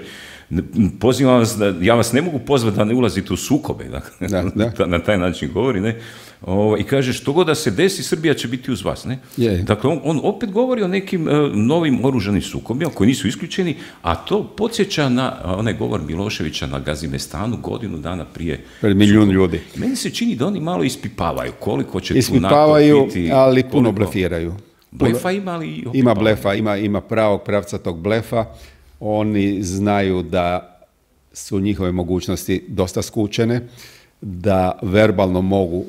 pozivam vas da, ja vas ne mogu pozvati da ne ulazite u sukobe, dakle, da, da. na taj način govori, ne? O, i kaže, što god da se desi, Srbija će biti uz vas, ne? Je. Dakle, on, on opet govori o nekim uh, novim oružanim sukobima koji nisu isključeni, a to podsjeća na uh, onaj govor Miloševića na Gazimestanu godinu dana prije. Pred milijun ljudi. Meni se čini da oni malo ispipavaju koliko će ispipavaju, tu NATO biti. Ali puno koliko... blefiraju. Blefa ima, ali... Ima blefa, ima, ima pravog pravcatog blefa. Oni znaju da su njihove mogućnosti dosta skučene, da verbalno mogu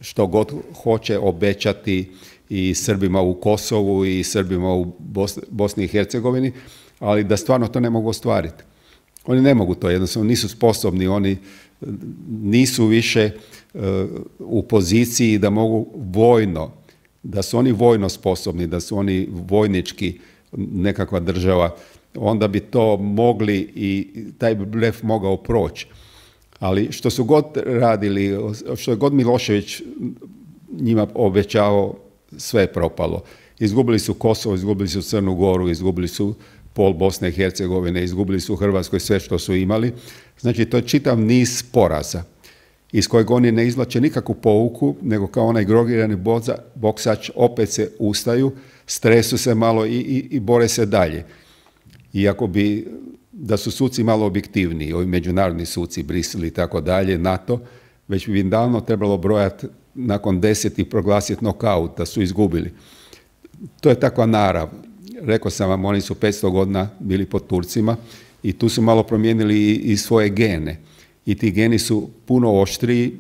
što god hoće obećati i Srbima u Kosovu i Srbima u Bosni i Hercegovini, ali da stvarno to ne mogu ostvariti. Oni ne mogu to, jednostavno nisu sposobni, oni nisu više uh, u poziciji da mogu vojno, da su oni vojno sposobni, da su oni vojnički nekakva država, onda bi to mogli i taj blef mogao proći. Ali što su god radili, što je god Milošević njima obećavao, sve je propalo. Izgubili su Kosovo, izgubili su Crnu Goru, izgubili su pol Bosne i Hercegovine, izgubili su u Hrvatskoj sve što su imali. Znači, to je čitav niz poraza iz kojeg oni ne izvlače nikakvu pouku, nego kao onaj grogirani boksač opet se ustaju, stresu se malo i, i, i bore se dalje. Iako bi, da su suci malo objektivniji, ovi međunarodni suci, Brisel i tako dalje, NATO, već bi im davno trebalo brojati nakon deset i proglasiti nokaut, da su izgubili. To je takva narav. Rekao sam vam, oni su petsto godina bili pod Turcima i tu su malo promijenili i, i svoje gene. I ti geni su puno oštriji,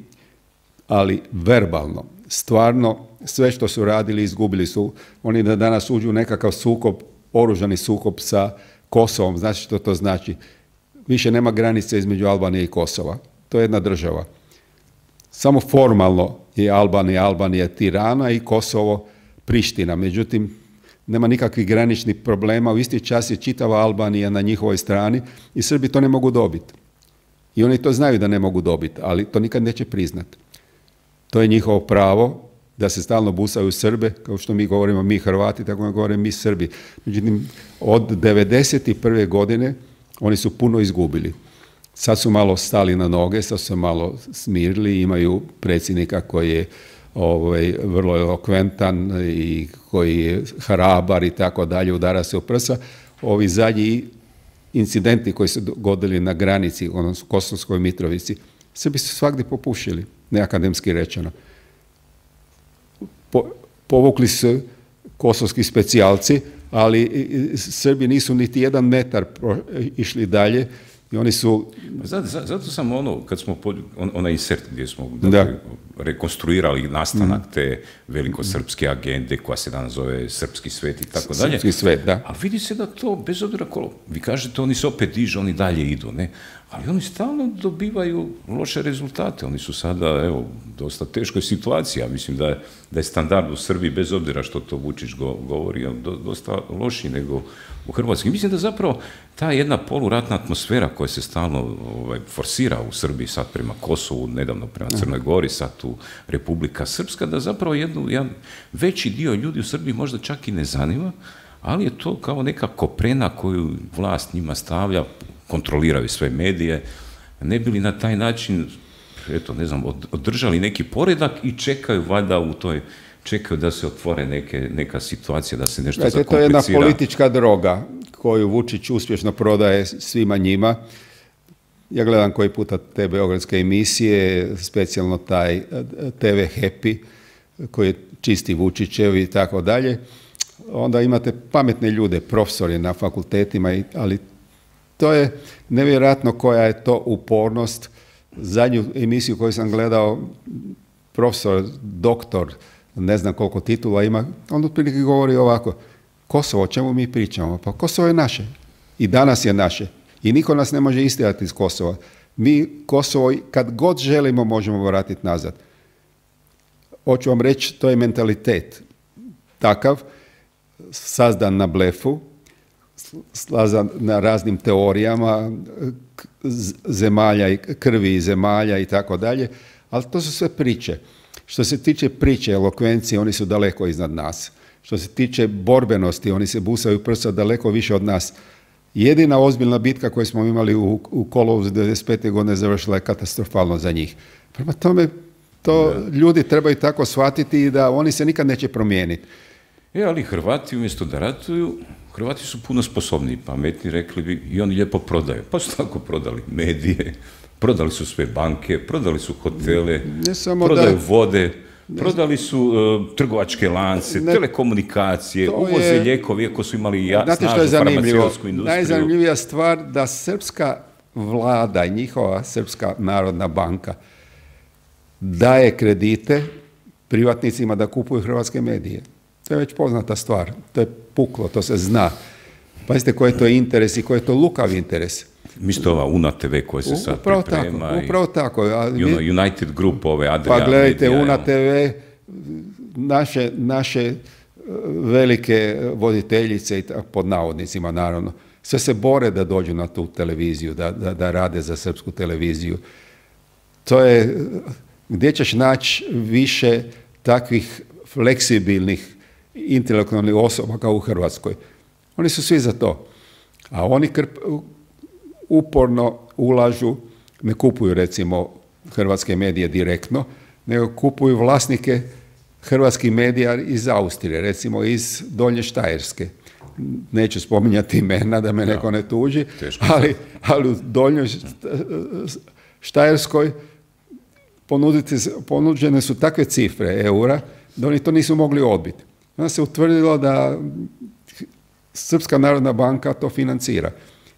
ali verbalno. Stvarno, sve što su radili, izgubili su. Oni da danas uđu u nekakav sukob, oružani sukob sa Kosovom, znači što to znači? Više nema granice između Albanije i Kosova. To je jedna država. Samo formalno je Albanija, Albanija Tirana i Kosovo Priština. Međutim, nema nikakvih graničnih problema. U isti čas je čitava Albanija na njihovoj strani i Srbi to ne mogu dobiti. I oni to znaju da ne mogu dobiti, ali to nikad neće priznati. To je njihovo pravo da se stalno busaju Srbe, kao što mi govorimo mi Hrvati, tako govorimo mi Srbi. Međutim, od devedeset prve godine oni su puno izgubili. Sad su malo stali na noge, sad su malo smirili, imaju predsjednika koji je ovaj, vrlo elokventan i koji je hrabar i tako dalje, udara se u prsa. Ovi zadnji incidenti koji su dogodili na granici, odnosno Kosovskoj Mitrovici, Srbi su svagdje popušili, neakademski rečeno. Po, povukli su kosovski specijalci, ali Srbi nisu niti jedan metar pro, išli dalje I oni su... Zato, zato sam ono, kad smo, on, onaj insert gdje smo dakle, rekonstruirali nastanak mm. te velikosrpske agende koja se danas zove Srpski svet i tako dalje. Srpski svet, da. A vidi se da to, bez obzira kolo, vi kažete oni se opet dižu, oni dalje idu, ne? Ali oni stalno dobivaju loše rezultate. Oni su sada, evo, u dosta teškoj situaciji. Ja mislim da je, da je standard u Srbiji, bez obzira što to Vučić go, govori, do, dosta lošiji nego u Hrvatskoj. Mislim da zapravo ta jedna poluratna atmosfera koja se stalno ovaj, forsira u Srbiji, sad prema Kosovu, nedavno prema Crnoj Gori, sad tu Republika Srpska, da zapravo jednu, jedan veći dio ljudi u Srbiji možda čak i ne zanima, ali je to kao neka koprena koju vlast njima stavlja, kontroliraju sve medije, ne bi li na taj način, eto, ne znam, održali neki poredak i čekaju valjda u toj, čekaju da se otvore neke, neka situacija, da se nešto Znate, zakomplicira. To je jedna politička droga koju Vučić uspješno prodaje svima njima. Ja gledam koji puta te beogradske emisije, specijalno taj te ve Happy, koji je čisti Vučićev i tako dalje. Onda imate pametne ljude, profesori na fakultetima, ali to je nevjerojatno koja je to upornost. Zadnju emisiju koju sam gledao, profesor, doktor, ne znam koliko titula ima, on otprilike govori ovako: Kosovo, o čemu mi pričamo? Pa Kosovo je naše. I danas je naše. I niko nas ne može istjerati iz Kosova. Mi Kosovo, kad god želimo, možemo vratiti nazad. Hoću vam reći, to je mentalitet takav, sazdan na blefu, slazan na raznim teorijama zemalja i krvi i zemalja i tako dalje, ali to su sve priče. Što se tiče priče, elokvencije, oni su daleko iznad nas. Što se tiče borbenosti, oni se busaju prsa daleko više od nas. Jedina ozbiljna bitka koju smo imali u, u kolovozu devedeset pete godine završila je katastrofalno za njih. Prema tome, to da. Ljudi trebaju tako shvatiti i da oni se nikad neće promijeniti. E, ali Hrvati umjesto da ratuju, Hrvati su puno sposobniji, pametni, rekli bi, i oni lijepo prodaju. Pa su tako prodali medije, prodali su sve banke, prodali su hotele, prodaju da, vode, ne, prodali su uh, trgovačke lance, ne, telekomunikacije, uvoze je, lijekovi, iako su imali ja, snažnu farmaceutsku industriju. Najzanimljivija stvar da srpska vlada i njihova Srpska narodna banka daje kredite privatnicima da kupuju hrvatske medije. To je već poznata stvar. To je puklo, to se zna. Pazite koji je to interes i koji je to lukav interes. Misto ova Una te ve koja se sad upravo priprema. Tako, upravo tako. A mi, United Group, ove Adria. Pa gledajte, Una te ve, naše, naše velike voditeljice, pod navodnicima naravno, sve se bore da dođu na tu televiziju, da, da, da rade za srpsku televiziju. To je, gdje ćeš naći više takvih fleksibilnih intelektualnih osoba kao u Hrvatskoj. Oni su svi za to. A oni krp, uporno ulažu, ne kupuju recimo hrvatske medije direktno, nego kupuju vlasnike hrvatskih medija iz Austrije, recimo iz Donje Štajerske. Neću spominjati imena da me neko ne tuži, ali, ali u Donjoj Štajerskoj ponuđene su takve cifre eura da oni to nisu mogli odbiti. Onda se utvrdilo da Srpska narodna banka to financira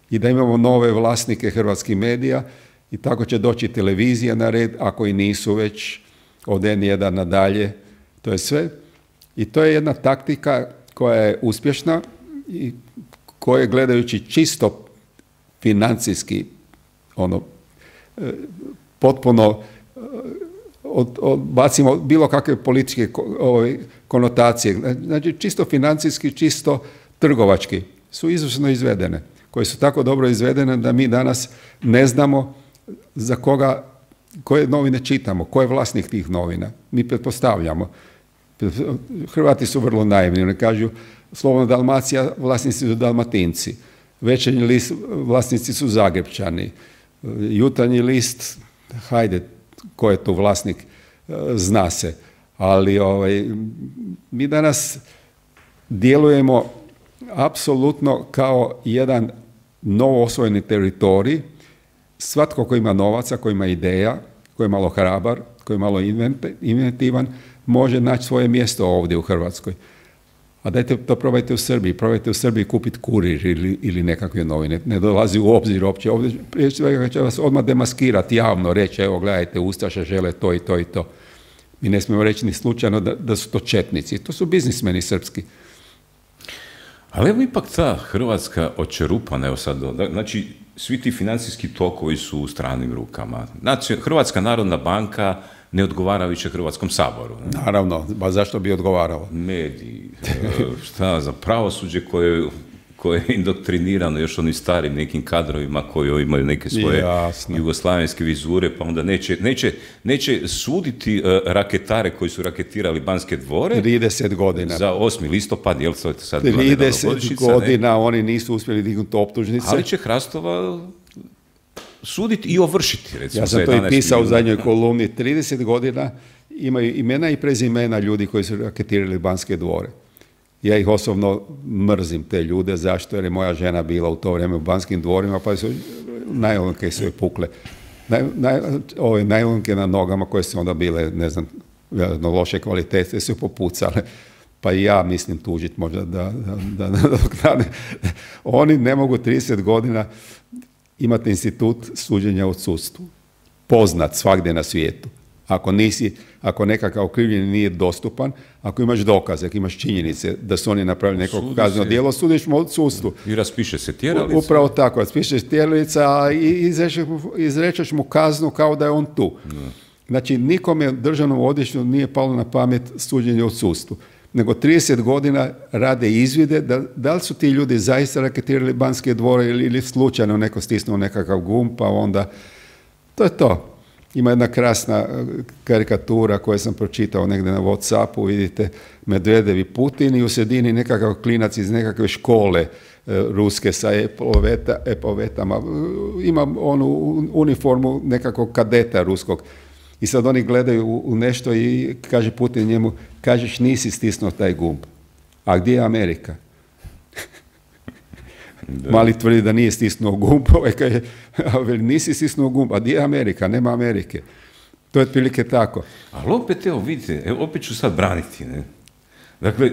i da imamo nove vlasnike hrvatskih medija i tako će doći televizija na red, ako i nisu već od en jedan nadalje. To je sve. I to je jedna taktika koja je uspješna i koja, gledajući čisto financijski, ono, potpuno Od, odbacimo bilo kakve političke ove, konotacije. Znači, čisto financijski, čisto trgovački su izvrsno izvedene, koje su tako dobro izvedene da mi danas ne znamo za koga, koje novine čitamo, ko je vlasnik tih novina. Mi pretpostavljamo. Hrvati su vrlo naivni. Oni kažu, Slobodna Dalmacija, vlasnici su Dalmatinci. Večernji list, vlasnici su Zagrebčani. Jutarnji list, hajde, ko je tu vlasnik, zna se. Ali ovaj, mi danas djelujemo apsolutno kao jedan novo osvojeni teritorij. Svatko ko ima novaca, ko ima ideja, ko je malo hrabar, ko je malo inventivan, može naći svoje mjesto ovdje u Hrvatskoj. A dajte to probajte u Srbiji, probajte u Srbiji kupiti Kurir ili, ili nekakve novine. Ne dolazi u obzir uopće. Ovdje prije svega će vas odmah demaskirati javno, reći, evo gledajte, Ustaše žele to i to i to. Mi ne smijemo reći ni slučajno da, da su to četnici. To su biznismeni srpski. Ali evo ipak ta Hrvatska očerupana, evo sad, znači svi ti financijski tokovi su u stranim rukama. Znači, Hrvatska narodna banka ne odgovara više Hrvatskom saboru. Ne? Naravno, ba zašto bi odgovarao? Mediji, šta za pravosuđe koje, koje je indoktrinirano još onim starim nekim kadrovima koji imaju neke svoje Jasne. jugoslavenske vizure, pa onda neće, neće, neće suditi uh, raketare koji su raketirali Banske dvore trideset godina. Za osmi listopad, jel to je sad trideset godina ne? Oni nisu uspjeli dignuti optužnice. Ali će Hrastova suditi i ovršiti, recimo. Ja sam to i pisao u zadnjoj kolumni. trideset godina imaju imena i prezimena ljudi koji su raketirali Banske dvore. Ja ih osobno mrzim, te ljude. Zašto? Jer je moja žena bila u to vrijeme u Banskim dvorima, pa su najlonke su joj pukle. Naj, naj, ove najlonke na nogama koje su onda bile, ne znam, loše kvalitete, su popucale. Pa i ja mislim tužiti možda da, da, da, da, da oni ne mogu trideset godina imati institut suđenja u sudstvu. Poznat svagdje na svijetu. Ako nisi, ako nekakav okrivljeni nije dostupan, ako imaš dokaze, ako imaš činjenice da su oni napravili neko kazneno djelo, sudiš mu od sudstvu. I raspiše se tjeralica. Upravo tako, raspišeš tjeralica, a izrečeš mu kaznu kao da je on tu. Ne. Znači, nikome državnom odvjetništvu nije palo na pamet suđenje od sudstvu. Nego trideset godina rade izvide da, da li su ti ljudi zaista raketirali Banske dvore ili, ili slučajno neko stisnuo nekakav gumb, pa onda to je to. Ima jedna krasna karikatura koju sam pročitao negdje na WhatsAppu, vidite Medvedev i Putin i u sredini nekakav klinac iz nekakve škole e, ruske sa epoveta, epovetama. Ima onu uniformu nekakvog kadeta ruskog. I sad oni gledaju u, u nešto i kaže Putin njemu, kažeš nisi stisnuo taj gumb. A gdje je Amerika? Da. Mali tvrdi da nije stisnuo gumb, ovaj kaže, nisi stisnuo gumb, a gdje je Amerika? Nema Amerike. To je otprilike tako. Ali opet, evo vidite, evo, opet ću sad braniti. Ne? Dakle,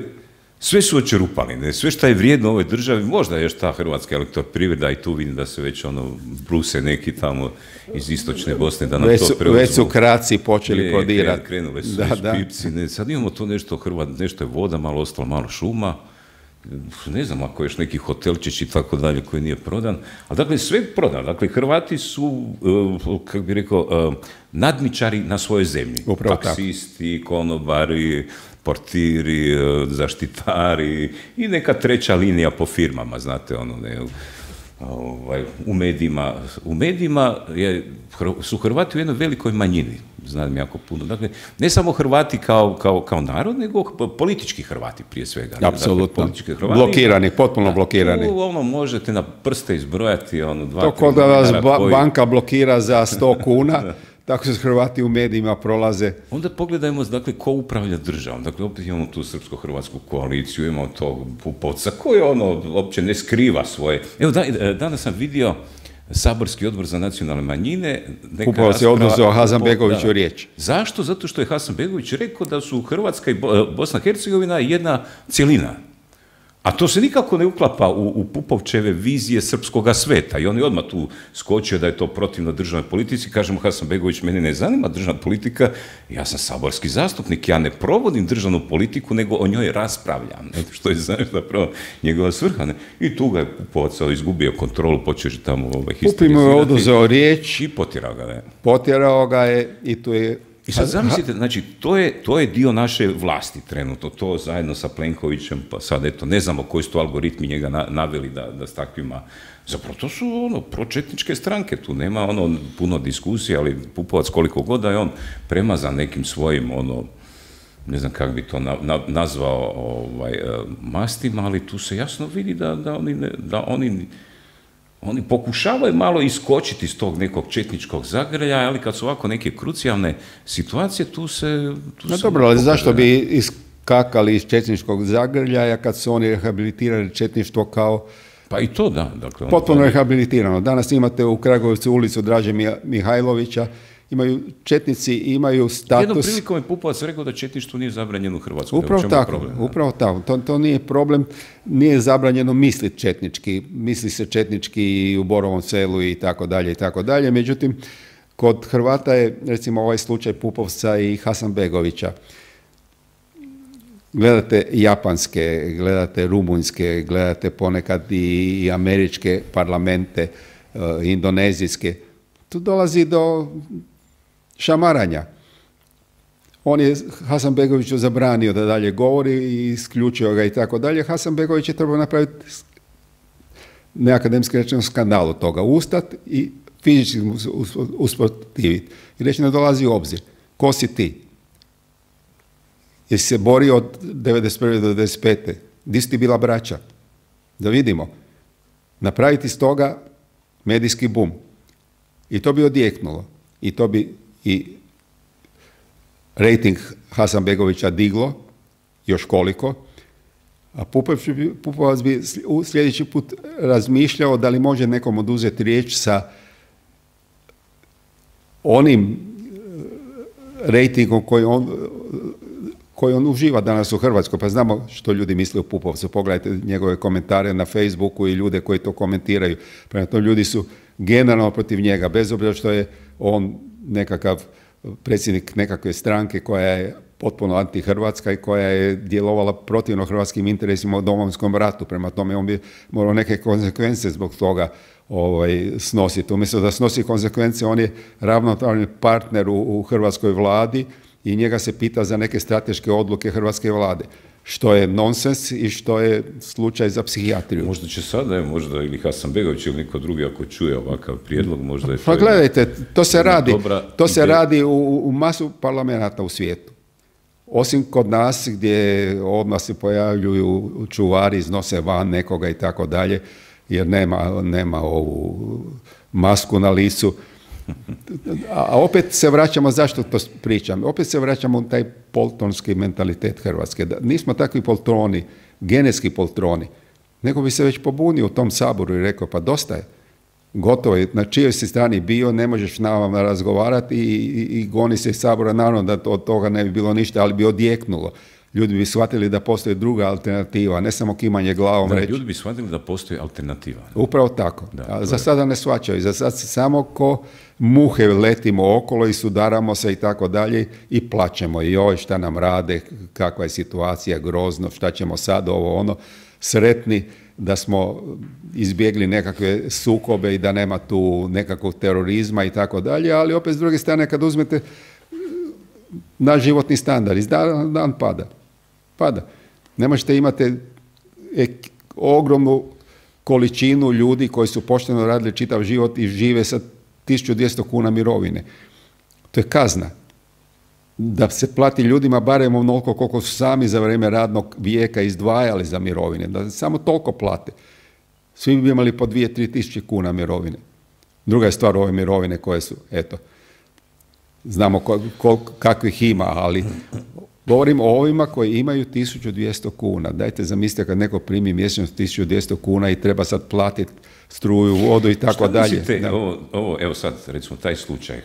sve su očerupali, ne? Sve što je vrijedno u ovoj državi, možda još ta Hrvatska elektroprivreda i tu vidim da se već ono bruse neki tamo iz istočne Bosne da nam već to su, preuzmu. Već su kraci počeli prodirati. Krenule su da, da. Pipci, ne? Sad imamo to nešto Hrvat, nešto je voda, malo ostalo, malo šuma. Ne znam ako je još neki hotelčić i tako dalje koji nije prodan, ali dakle sve je prodan. Dakle, Hrvati su, uh, kako bih rekao, uh, nadničari na svojoj zemlji. Upravo taksisti, tako. Konobari, portiri, uh, zaštitari i neka treća linija po firmama, znate, ono, ne, ovaj, u medijima. U medijima je, su Hrvati u jednoj velikoj manjini, znam jako puno. Dakle, ne samo Hrvati kao, kao, kao narod, nego politički Hrvati prije svega. Apsolutno. Dakle, blokirani, potpuno da, blokirani. Tu, ono, možete na prste izbrojati, ono, dva, to kod da vas ba koji... banka blokira za sto kuna, tako se Hrvati u medijima prolaze. Onda pogledajmo, dakle, ko upravlja državom. Dakle, opet imamo tu srpsko-hrvatsku koaliciju, imamo tog Pupovca, koji ono, uopće ne skriva svoje. Evo, da, danas sam vidio Saborski odbor za nacionalne manjine. Pupovac je oduzeo Hasanbegoviću riječ. Zašto? Zato što je Hasanbegović rekao da su Hrvatska i Bosna i Hercegovina jedna cjelina. A to se nikako ne uklapa u, u Pupovčeve vizije srpskoga sveta. I on je odmah tu skočio da je to protivno državnoj politici. Kažemo, Hasanbegović, mene ne zanima državna politika, ja sam saborski zastupnik, ja ne provodim državnu politiku, nego o njoj raspravljam. Ne? Što je, znaš, zapravo njegova svrha. Ne? I tu ga je Pupovac izgubio kontrolu, počeo je tamo ovaj, histerizirati. Pupi mu je oduzeo riječ. I potjerao ga. Ne? Potjerao ga je i tu je... I sad zamislite, znači, to je, to je dio naše vlasti trenutno, to zajedno sa Plenkovićem, pa sad eto, ne znamo koji su to algoritmi njega na, naveli da, da s takvima, zapravo to su ono, pročetničke stranke, tu nema ono puno diskusije, ali Pupovac koliko god da je on premazan nekim svojim, ono, ne znam kako bi to na, na, nazvao ovaj, mastima, ali tu se jasno vidi da, da oni, ne, da oni Oni pokušavaju malo iskočiti iz tog nekog četničkog zagrljaja, ali kad su ovako neke krucijalne situacije, tu se... Tu no dobro, ali zašto bi iskakali iz četničkog zagrljaja kad su oni rehabilitirali četništvo kao... Pa i to da. Dakle, potpuno to... rehabilitirano. Danas imate u Kragovcu ulicu Draže Mihajlovića imaju četnici imaju status. Jednom prilikom je Pupovac rekao da četništvo nije zabranjeno u Hrvatskoj. Upravo tako, problem, upravo tako. To, to nije problem, nije zabranjeno misliti četnički. Misli se četnički i u Borovom Selu i tako dalje i tako dalje. Međutim, kod Hrvata je recimo ovaj slučaj Pupovca i Hasanbegovića. Gledate japanske, gledate rumunjske, gledate ponekad i, i američke parlamente, uh, indonezijske. Tu dolazi do šamaranja. On je Hasanbegoviću zabranio da dalje govori i isključio ga i tako dalje. Hasanbegović je trebao napraviti neakademski rečeno skandal od toga. Ustat i fizički usprotiviti. I reći ne dolazi u obzir. Ko si ti? Jesi se borio od devedeset prve do devedeset pete Di si ti bila braća? Da vidimo. Napraviti iz toga medijski bum. I to bi odjeknulo. I to bi i rejting Hasanbegovića diglo, još koliko, a Pupovac bi sljedeći put razmišljao da li može nekom oduzeti riječ sa onim rejtingom koji on, koji on uživa danas u Hrvatskoj. Pa znamo što ljudi misle o Pupovcu. Pogledajte njegove komentare na Facebooku i ljude koji to komentiraju. Prema tome, ljudi su generalno protiv njega, bez obzira što je on nekakav predsjednik nekakve stranke koja je potpuno antihrvatska i koja je djelovala protivno hrvatskim interesima u Domovinskom ratu. Prema tome, on bi morao neke konsekvence zbog toga ovaj, snositi. Umjesto da snosi konsekvence, on je ravnopravni partner u, u hrvatskoj vladi i njega se pita za neke strateške odluke hrvatske vlade. Što je nonsens i što je slučaj za psihijatriju. Možda će sada, možda ili Hasanbegović ili niko drugi ako čuje ovakav prijedlog, možda je to... Pa gledajte, to se radi, to se radi u, u masu parlamenata u svijetu. Osim kod nas gdje odmah se pojavljuju čuvari, iznose van nekoga i tako dalje, jer nema, nema ovu masku na licu. A opet se vraćamo, zašto to pričam? Opet se vraćamo u taj poltronski mentalitet Hrvatske. Da nismo takvi poltroni, genetski poltroni, nego bi se već pobunio u tom saboru i rekao, pa dosta je, gotovo je, na čijoj si strani bio, ne možeš na vam razgovarati i, i, i goni se iz sabora, naravno da to, od toga ne bi bilo ništa, ali bi odjeknulo. Ljudi bi shvatili da postoji druga alternativa, ne samo kimanje glavom da, reći. Ljudi bi shvatili da postoji alternativa. Upravo tako. Da, a za sada ne shvaćaju. Za sad samo ko muhe letimo okolo i sudaramo se i tako dalje i plaćemo. I joj, šta nam rade, kakva je situacija, grozno, šta ćemo sad, ovo ono. Sretni da smo izbjegli nekakve sukobe i da nema tu nekakvog terorizma i tako dalje, ali opet s druge strane kad uzmete naš životni standard, iz dana dan pada. Pada. Ne možete imati ogromnu količinu ljudi koji su pošteno radili čitav život i žive sa tisuću dvjesto kuna mirovine. To je kazna. Da se plati ljudima barem onoliko koliko su sami za vrijeme radnog vijeka izdvajali za mirovine. Da samo toliko plate. Svi bi imali po dvije, tri tisuće kuna mirovine. Druga je stvar ove mirovine koje su, eto, znamo kol, kol, kakvih ima, ali govorim o ovima koji imaju tisuću dvjesto kuna. Dajte zamislite kad neko primi mjesečno tisuću dvjesto kuna i treba sad platiti struju, vodu i tako dalje. Mislite, ovo, ovo, evo sad, recimo, taj slučaj,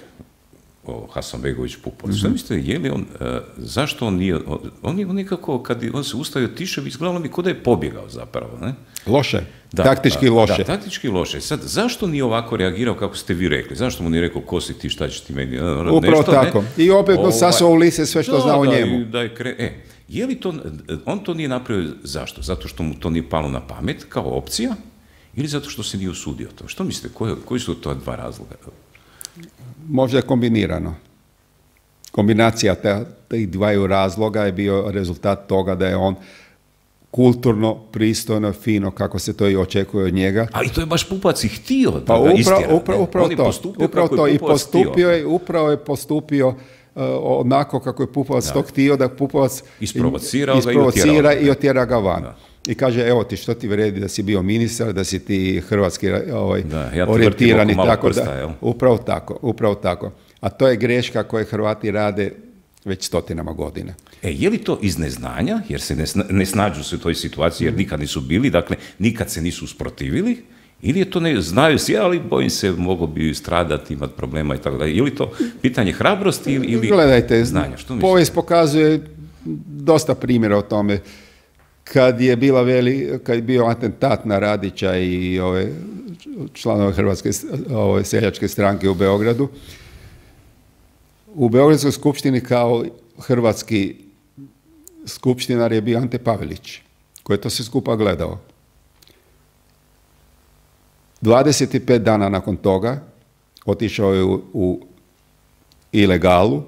o Hasanbegović Pupovac, mm-hmm. Šta mislite, je li on, uh, zašto on nije, on, on je nekako, kad on se ustavio tiše, izgledalo mi k'o da je pobjegao zapravo, ne? Loše, da, taktički da, loše. Da, taktički loše. Sad, zašto nije ovako reagirao kako ste vi rekli? Zašto mu nije rekao, ko si ti, šta ćeš ti meni? Upravo nešto, tako. Ne? I opet ovaj, sasao u lise sve što da, zna o da, njemu. Da je kre... e, je li to, on to nije napravio zašto? Zato što mu to nije palo na pamet kao opcija ili zato što se nije usudio to? Što mislite, koji, koji su to dva razloga? Možda je kombinirano. Kombinacija tih dvaju razloga je bio rezultat toga da je on kulturno, pristojno, fino, kako se to i očekuje od njega. Ali to je baš Pupovac i htio da pa ga upravo, istjera. Upravo, upravo on je to. postupio upravo kako to. je I Pupovac postupio je, upravo je postupio uh, onako kako je Pupovac da. to htio, da Pupovac isprovocira, isprovocira i otjera ga van. Da. I kaže, evo ti, što ti vredi da si bio ministar, da si ti hrvatski ovaj, da, ja orijentirani. Tako prsta, da, jel? Upravo tako, upravo tako. A to je greška koju Hrvati rade već stotinama godina. E, je li to iz neznanja, jer se ne, sna, ne snađu se u toj situaciji, jer nikad nisu bili, dakle, nikad se nisu usprotivili, Ili je to ne, znaju svi, ali bojim se, mogu bi stradati, imati problema i tako dalje. Ili to pitanje hrabrosti ili, ili Gledajte, znanja? Što mislite? Povijest pokazuje dosta primjera o tome. Kad je bila veli, kad je bio atentat na Radića i ove članove Hrvatske ove seljačke stranke u Beogradu, u Beogradskoj skupštini kao hrvatski skupštinar je bio Ante Pavelić, koji je to sve skupa gledao. dvadeset pet dana nakon toga otišao je u, u ilegalu,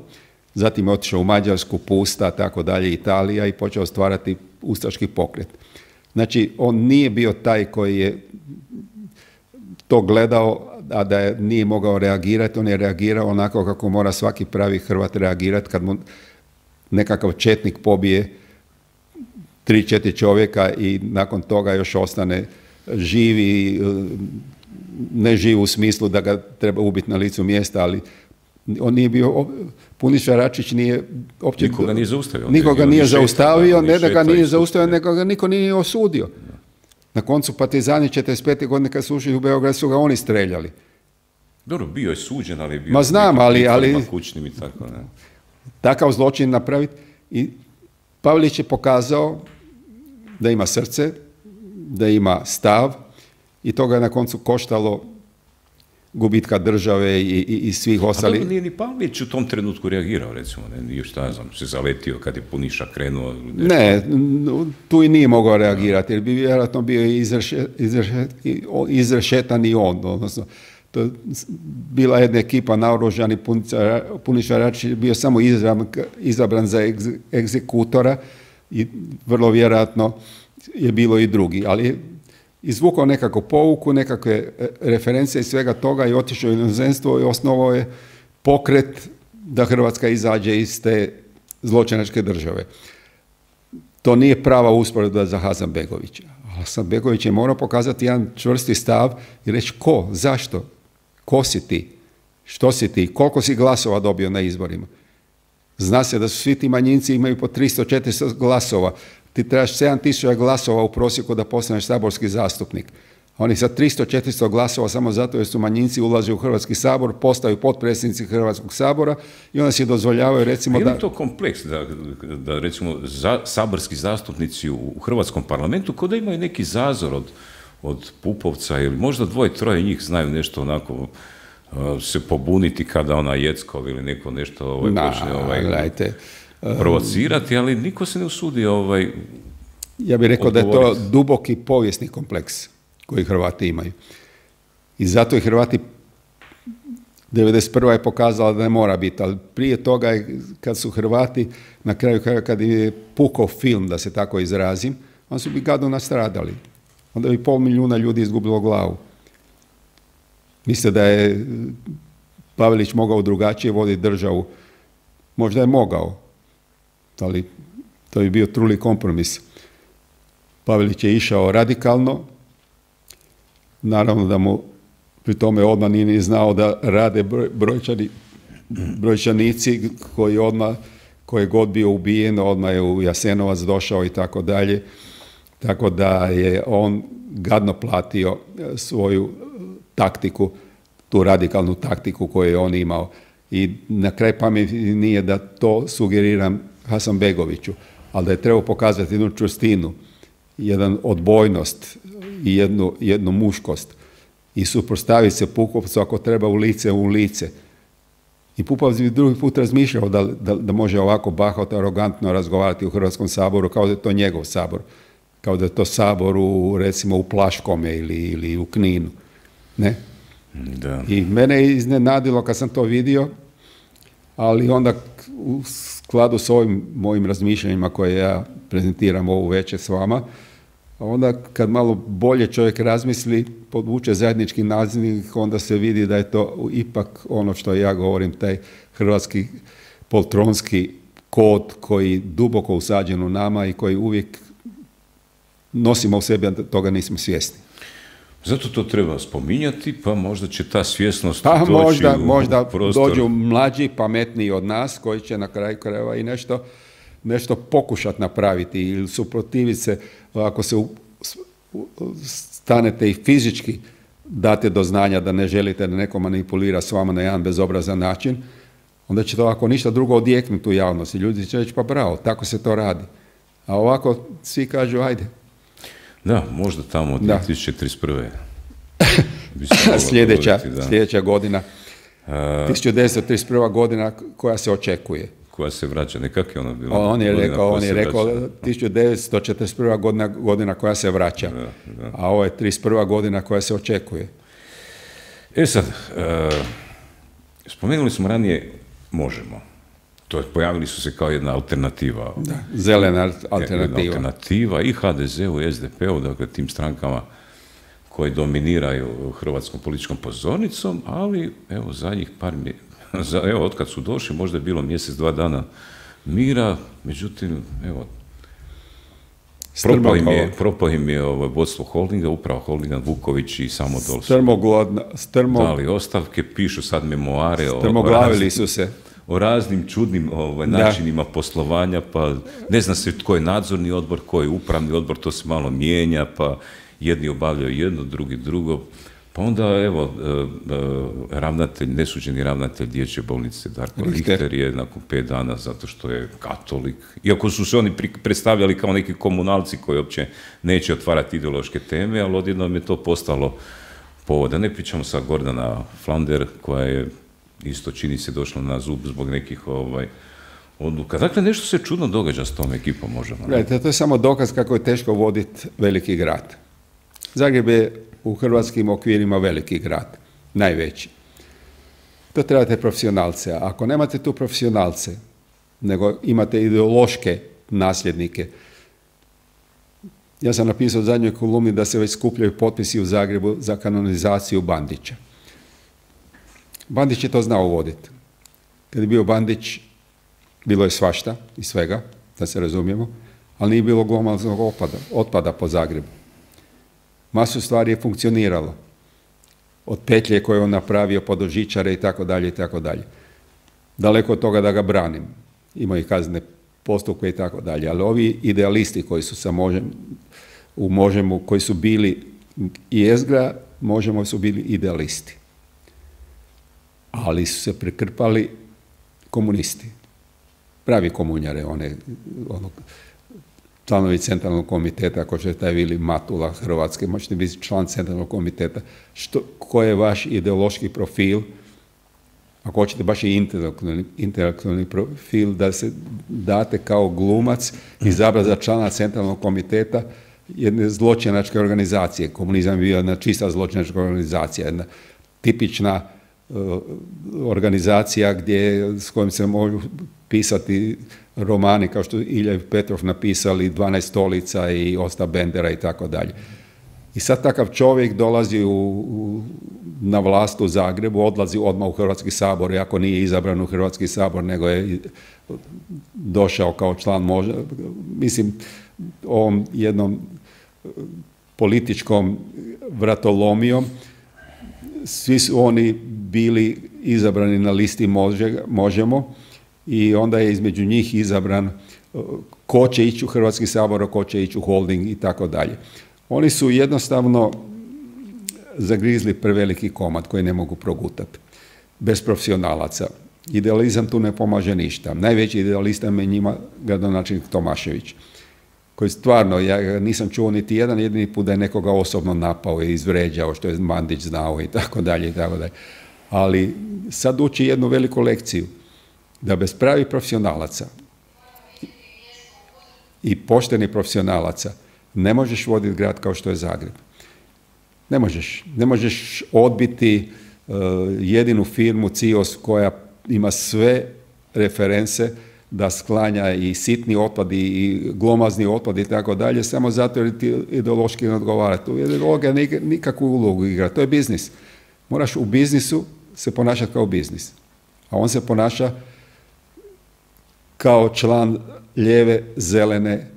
zatim je otišao u Mađarsku, Pusta, tako dalje, Italija i počeo stvarati ustaški pokret. Znači, on nije bio taj koji je to gledao, a da je, nije mogao reagirati, on je reagirao onako kako mora svaki pravi Hrvat reagirati kad mu nekakav četnik pobije tri, četiri čovjeka i nakon toga još ostane živi, ne živ u smislu da ga treba ubiti na licu mjesta, ali on nije bio, Puniša Račić nije opće... Nikoga nije zaustavio. Nikoga nije zaustavio, ne da ga nije zaustavio, zaustavio, nego ga niko nije osudio. Na koncu partizani četrdeset pete godine kad su ušli u Beograd su ga oni streljali. Dobro, bio je suđen, ali je bio... Ma znam, ali... ali kućnim i tako, ne. Takav zločin napraviti. I Pavelić je pokazao da ima srce, da ima stav i to ga je na koncu koštalo gubitka države i, i, i svih ostalih. A dobro, nije ni Pavelić u tom trenutku reagirao, recimo, ne, nije šta ja znam, se zaletio kad je Puniša krenuo. Nešto. Ne, tu i nije mogao reagirati, jer bi vjerojatno bio izrešet, izrešet, izrešetan i on, odnosno, to bila jedna ekipa naoružani, Puniša Račić je bio samo izabran, izabran za egz, egzekutora i vrlo vjerojatno je bilo i drugi, ali izvukao nekakvu pouku, nekakve referencije i svega toga i otišao u inozemstvo i osnovao je pokret da Hrvatska izađe iz te zločinačke države. To nije prava usporedba za Hasanbegovića. Hasanbegović je morao pokazati jedan čvrsti stav i reći ko, zašto, ko si ti, što si ti, koliko si glasova dobio na izborima. Zna se da su svi ti manjinci imaju po tristo četiristo glasova. Ti trebaš sedam tisuća glasova u prosjeku da postaneš saborski zastupnik. Oni sa tristo četiristo glasova samo zato jer su manjinci ulaze u Hrvatski sabor, postaju potpredsjednici Hrvatskog sabora i onda si dozvoljavaju recimo da... Je li to kompleks da, da recimo za, saborski zastupnici u Hrvatskom parlamentu kod da imaju neki zazor od, od Pupovca ili možda dvoje, troje njih znaju nešto onako uh, se pobuniti kada ona Jeckov ili neko nešto ovaj, Na, počne ovaj, gledajte, provocirati, ali niko se ne usudi ovaj, ja bih rekao odgovoriti. da je to duboki povijesni kompleks koji Hrvati imaju. I zato i Hrvati devedeset prva je pokazala da ne mora biti, ali prije toga je, kad su Hrvati na kraju kad je pukao film, da se tako izrazim, onda su bi gadno nastradali. Onda bi pol milijuna ljudi izgubilo glavu. Mislite da je Pavelić mogao drugačije voditi državu? Možda je mogao, ali to bi bio truli kompromis. Pavelić je išao radikalno, naravno da mu pri tome odmah nije ni znao da rade broj, brojčani, brojčanici koji odmah, koji je god bio ubijen, odmah je u Jasenovac došao i tako dalje. Tako da je on gadno platio svoju taktiku, tu radikalnu taktiku koju je on imao. I na kraj pameti nije da to sugeriram Hasanbegoviću, ali da je trebao pokazati jednu čvrstinu, jedan odbojnost i jednu, jednu muškost i suprotstaviti se Pupovcu ako treba u lice u lice. I Pupovac bi drugi put razmišljao da, da, da može ovako bahato, arogantno razgovarati u Hrvatskom saboru kao da je to njegov sabor, kao da je to sabor u, recimo u Plaškome ili, ili u Kninu. Ne? Da. I mene je iznenadilo kad sam to vidio, ali onda u skladu s ovim mojim razmišljanjima koje ja prezentiram ovu večer s vama, onda kad malo bolje čovjek razmisli, podvuče zajednički nazivnik, onda se vidi da je to ipak ono što ja govorim, taj hrvatski poltronski kod koji duboko usađen u nama i koji uvijek nosimo u sebi, a toga nismo svjesni. Zato to treba spominjati, pa možda će ta svjesnost pa doći možda, u možda prostor. Dođu mlađi, pametniji od nas, koji će na kraju krajeva i nešto, nešto pokušati napraviti ili suprotiviti se, ako se u, stanete i fizički date do znanja da ne želite da neko manipulira s vama na jedan bezobrazan način, onda će to ako ništa drugo odjeknuti u javnosti. Ljudi će reći pa bravo, tako se to radi. A ovako svi kažu ajde. Da, možda tamo od Da. dvije tisuće trideset prve. sljedeća, govoriti, da. sljedeća godina, A, tisuću devetsto trideset prva godina koja se očekuje. koja se vraća, nekak je ona bila? On je godina rekao, koja on je se rekao vraća. tisuću devetsto četrdeset prva godina, godina koja se vraća, Da, da. a ovo je trideset prva godina koja se očekuje. E sad, e, spomenuli smo ranije Možemo. To je, pojavili su se kao jedna alternativa. Da, zelena Jedna alternativa. alternativa i ha de zeu i es de pe-u, dakle tim strankama koji dominiraju hrvatskom političkom pozornicom, ali evo zadnjih par mje... za, evo otkad su došli, možda je bilo mjesec, dva dana mira, međutim, evo, propao im je, propao im je ovo vodstvo holdinga, upravo holdinga Vuković i Samodol su Strmoglodna, strmo, dali ostavke, pišu sad memoare o, o, strmoglavili raznim, su se. o raznim čudnim ovaj, Da. načinima poslovanja, pa ne zna se tko je nadzorni odbor, tko je upravni odbor, to se malo mijenja, pa jedni obavljaju jedno, drugi drugo. Pa onda, evo, e, e, ravnatelj, nesuđeni ravnatelj dječje bolnice Darko Richter. Richter je nakon pet dana zato što je katolik. Iako su se oni pri- predstavljali kao neki komunalci koji uopće neće otvarati ideološke teme, ali odjednom je to postalo povod. Da ne pričamo sa Gordana Flander, koja je isto čini se došla na zub zbog nekih ovaj, odluka. Dakle, nešto se čudno događa s tom ekipom, možemo. ne? Gledajte, to je samo dokaz kako je teško voditi veliki grad. Zagreb je u hrvatskim okvirima veliki grad, najveći. To trebate profesionalce. A ako nemate tu profesionalce, nego imate ideološke nasljednike, ja sam napisao u zadnjoj kolumni da se već skupljaju potpisi u Zagrebu za kanonizaciju Bandića. Bandić je to znao voditi. Kad je bio Bandić, bilo je svašta i svega, da se razumijemo, ali nije bilo glomaznog otpada, otpada po Zagrebu. Masu stvari je funkcioniralo. Od petlje koje je on napravio, pod žičare i tako dalje i tako dalje. Daleko od toga da ga branim. Imaju i kaznene postupke i tako dalje. Ali ovi idealisti koji su sa možem, u Možemu, koji su bili i Ezgra, Možemo su bili idealisti. Ali su se prekrpali komunisti. Pravi komunjare, one, ono, članovi centralnog komiteta, ako što je taj Vili Matula Hrvatske, možete biti član centralnog komiteta. Što, koji je vaš ideološki profil, ako hoćete baš i intelektualni, intelektualni profil, da se date kao glumac izabrati za člana centralnog komiteta jedne zločinačke organizacije. Komunizam je bio jedna čista zločinačka organizacija, jedna tipična uh, organizacija gdje, s kojim se mogu pisati romani kao što Ilja i Petrov napisali dvanaest stolica i Osta Bendera i tako dalje. I sad takav čovjek dolazi u, u, na vlast u Zagrebu, odlazi odmah u Hrvatski sabor, iako nije izabran u Hrvatski sabor, nego je došao kao član možda, mislim, ovom jednom političkom vratolomijom. Svi su oni bili izabrani na listi može, Možemo i onda je između njih izabran ko će ići u Hrvatski sabor, ko će ići u holding i tako dalje. Oni su jednostavno zagrizli preveliki komad koji ne mogu progutati. Bez profesionalaca. Idealizam tu ne pomaže ništa. Najveći idealista je njima gradonačelnik Tomašević, koji stvarno, ja nisam čuo niti jedan jedini put da je nekoga osobno napao i izvređao, što je Bandić znao i tako dalje i tako dalje. Ali sad uči jednu veliku lekciju, da bez pravih profesionalaca i poštenih profesionalaca ne možeš voditi grad kao što je Zagreb. Ne možeš. Ne možeš odbiti uh, jedinu firmu C I O S koja ima sve reference da sklanja i sitni otpad i glomazni otpad i tako dalje, samo zato jer ti ideološki ne odgovara. Tu ideologija nikakvu ulogu igra. To je biznis. Moraš u biznisu se ponašati kao biznis. A on se ponaša kao član lijeve, zelene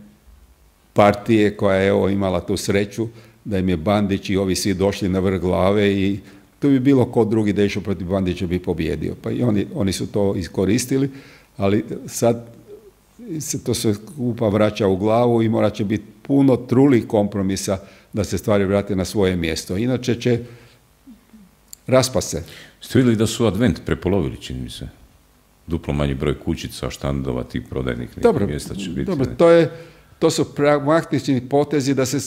partije koja je evo, imala tu sreću da im je Bandić i ovi svi došli na vrh glave i to bi bilo ko drugi da išao protiv Bandića bi pobjedio. Pa i oni, oni su to iskoristili, ali sad se to sve skupa vraća u glavu i morat će biti puno trulih kompromisa da se stvari vrate na svoje mjesto. Inače će raspa se. Ste vidjeli da su Advent prepolovili, čini mi se? Duplo manji broj kućica, štandova, tih prodajnih nekih Dobro, mjesta će biti. dobro, to, je, to su pragmatični potezi da se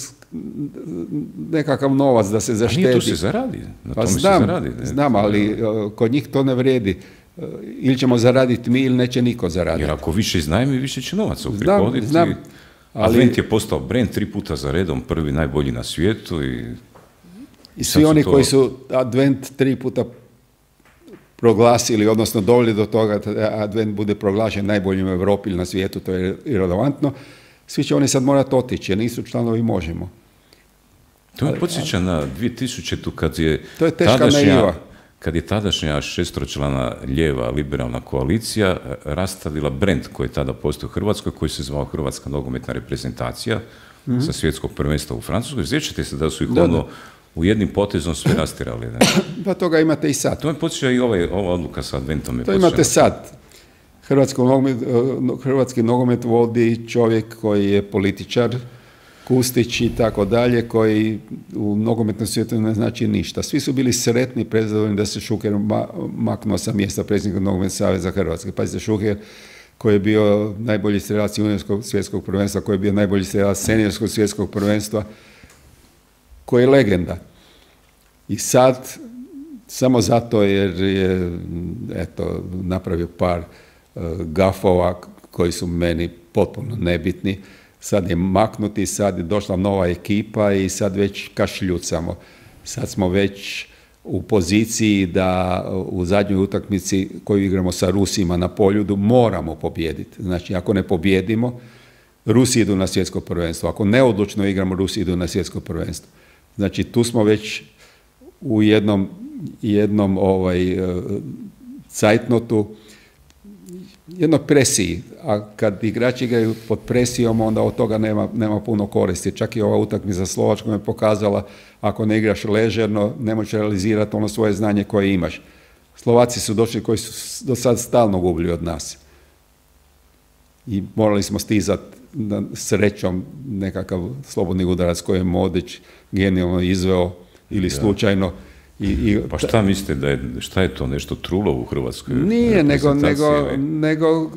nekakav novac da se zaštedi. A nije tu se zaradi, na pa tome znam, se zaradi. Ne? Znam, ali uh, kod njih to ne vredi. Uh, ili ćemo zaraditi mi ili neće niko zaraditi. Jer ako više iznajmi, više će novaca uprihoditi. Znam, znam. Ali, Advent je postao brand tri puta za redom, prvi najbolji na svijetu. I, i svi oni to... koji su Advent tri puta proglasili, odnosno doveli do toga da Advent bude proglašen najboljim u Europi ili na svijetu, to je irelevantno, svi će oni sad morati otići, jer nisu članovi Možemo. To me podsjeća na dvije tisućite. kad je, to je teška tadašnja, naiva. kad je tadašnja šestročlana lijeva liberalna koalicija rastavila brend koji je tada postao u Hrvatskoj, koji se zvao Hrvatska nogometna reprezentacija mm-hmm. sa svjetskog prvenstva u Francuskoj. Sjećate se da su ih da, ono da. u jednim potezom sve rastirali. Ne? Pa toga imate i sad. To me podsjeća i ovaj, ova odluka sa Adventom. To imate sad. Hrvatski nogomet, Hrvatski nogomet vodi čovjek koji je političar, Kustić i tako dalje, koji u nogometnom svijetu ne znači ništa. Svi su bili sretni, prezadovoljni da se Šuker ma, maknuo sa mjesta predsjednika Nogometnog saveza Hrvatske. Pazite, Šuker koji je bio najbolji strelac juniorskog svjetskog prvenstva, koji je bio najbolji strelac seniorskog svjetskog prvenstva, koji je legenda. I sad, samo zato jer je eto, napravio par uh, gafova koji su meni potpuno nebitni, sad je maknuti, sad je došla nova ekipa i sad već kašljucamo. Sad smo već u poziciji da u zadnjoj utakmici koju igramo sa Rusima na Poljudu moramo pobijediti. Znači, ako ne pobjedimo, Rusi idu na svjetsko prvenstvo. Ako neodlučno igramo, Rusi idu na svjetsko prvenstvo. Znači, tu smo već u jednom, jednom ovaj, cajtnotu, jednoj presiji, a kad igrači igraju pod presijom, onda od toga nema, nema puno koristi. Čak i ova utakmica za Slovačkom je pokazala, ako ne igraš ležerno, ne možeš realizirati ono svoje znanje koje imaš. Slovaci su došli koji su do sad stalno gubili od nas. I morali smo stizati srećom nekakav slobodni udarac koji je Modić genijalno izveo ili slučajno. I, i, pa šta mislite da je, šta je to nešto trulo u Hrvatskoj? Nije, nego, nego, nego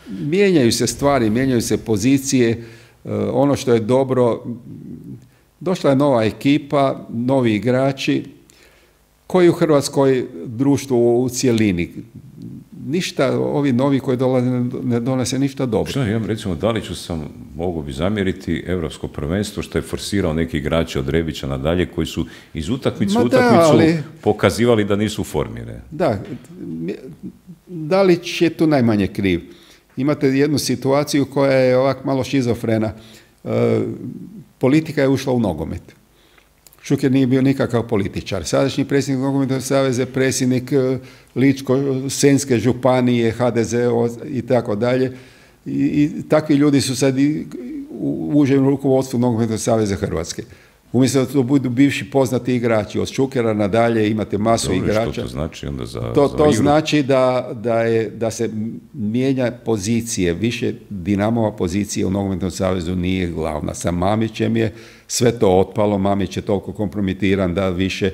mijenjaju se stvari, mijenjaju se pozicije, uh, ono što je dobro, došla je nova ekipa, novi igrači, koji u Hrvatskoj društvu u cjelini. Ništa, ovi novi koji dolaze ne donese ništa dobro. Šta, ja recimo, Daliću sam mogu bi zamjeriti Europsko prvenstvo što je forsirao neki igrači od Rebića nadalje koji su iz utakmice u utakmicu ali, pokazivali da nisu u formi. Ne? Da, Dalić je tu najmanje kriv. Imate jednu situaciju koja je ovak malo šizofrena. E, politika je ušla u nogomet. Šuker nije bio nikakav političar. Sadašnji predsjednik Nogometnog saveza je predsjednik Ličko-senjske županije, ha de ze i tako dalje. I takvi ljudi su sad i u užem rukovodstvu Nogometnog saveza Hrvatske. Umjesto da to budu bivši poznati igrači, od Šukera nadalje imate masu Dobre, igrača. Što to znači onda za, to, za to igru? znači da, da, je, da se mijenja pozicije, više Dinamova pozicija u Nogometnom savezu nije glavna. Sa Mamićem je sve to otpalo, Mamić je toliko kompromitiran da više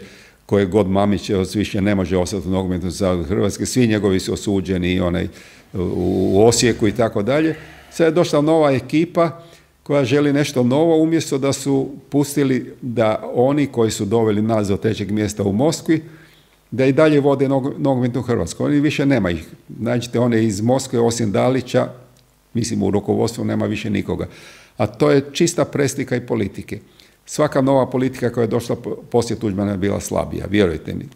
koje god Mamić više ne može ostati u Nogometnom savezu Hrvatske, svi njegovi su osuđeni i onaj u Osijeku i tako dalje. Sad je došla nova ekipa koja želi nešto novo, umjesto da su pustili da oni koji su doveli nas do trećeg mjesta u Moskvi, da i dalje vode nogometnu Hrvatsku. Oni više nema ih. Nađite one iz Moskve, osim Dalića, mislim u rukovodstvu nema više nikoga. A to je čista preslika i politike. Svaka nova politika koja je došla poslije Tuđmana je bila slabija, vjerujte mi.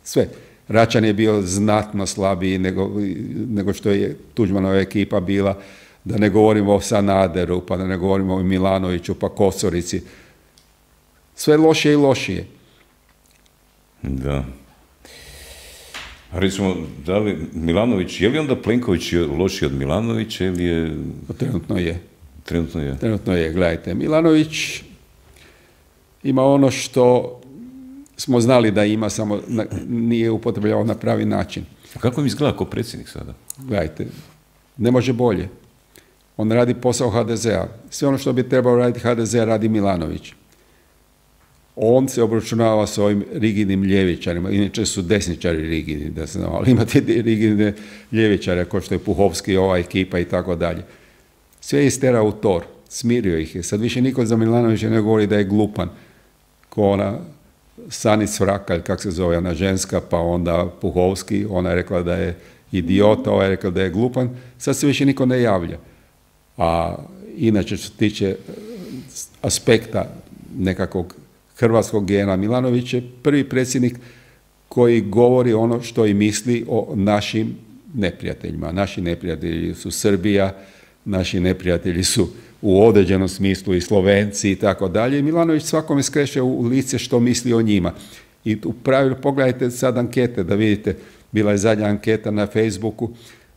Sve. Račan je bio znatno slabiji nego, nego što je Tuđmanova ekipa bila. Da ne govorimo o Sanaderu, pa da ne govorimo o Milanoviću, pa Kosorici. Sve lošije i lošije. Da. A recimo, da li Milanović, je li onda Plenković lošiji od Milanovića ili je... Pa trenutno je. Trenutno je. Trenutno je, gledajte. Milanović ima ono što smo znali da ima, samo na, nije upotrebljavao na pravi način. A kako mi izgleda kao predsjednik sada? Gledajte, ne može bolje. On radi posao ha de zea. Sve ono što bi trebao raditi ha de ze radi Milanović. on se obračunava s ovim rigidnim ljevičarima, inače su desničari rigidni, da se znam, ali imate rigidne ljevičare, kao što je Puhovski, ova ekipa i tako dalje. Sve je isterao u tor, smirio ih je. Sad više niko za Milanovića ne govori da je glupan, ko ona Sanis Vrakalj, kak se zove, ona ženska, pa onda Puhovski, ona je rekla da je idiota, ova je rekla da je glupan, sad se više niko ne javlja. A inače, što se tiče aspekta nekakvog hrvatskog gena, Milanović je prvi predsjednik koji govori ono što i misli o našim neprijateljima. Naši neprijatelji su Srbija, naši neprijatelji su u određenom smislu i Slovenci i tako dalje. Milanović svakome skreće u lice što misli o njima. I u pravilu pogledajte sad ankete da vidite, bila je zadnja anketa na Facebooku,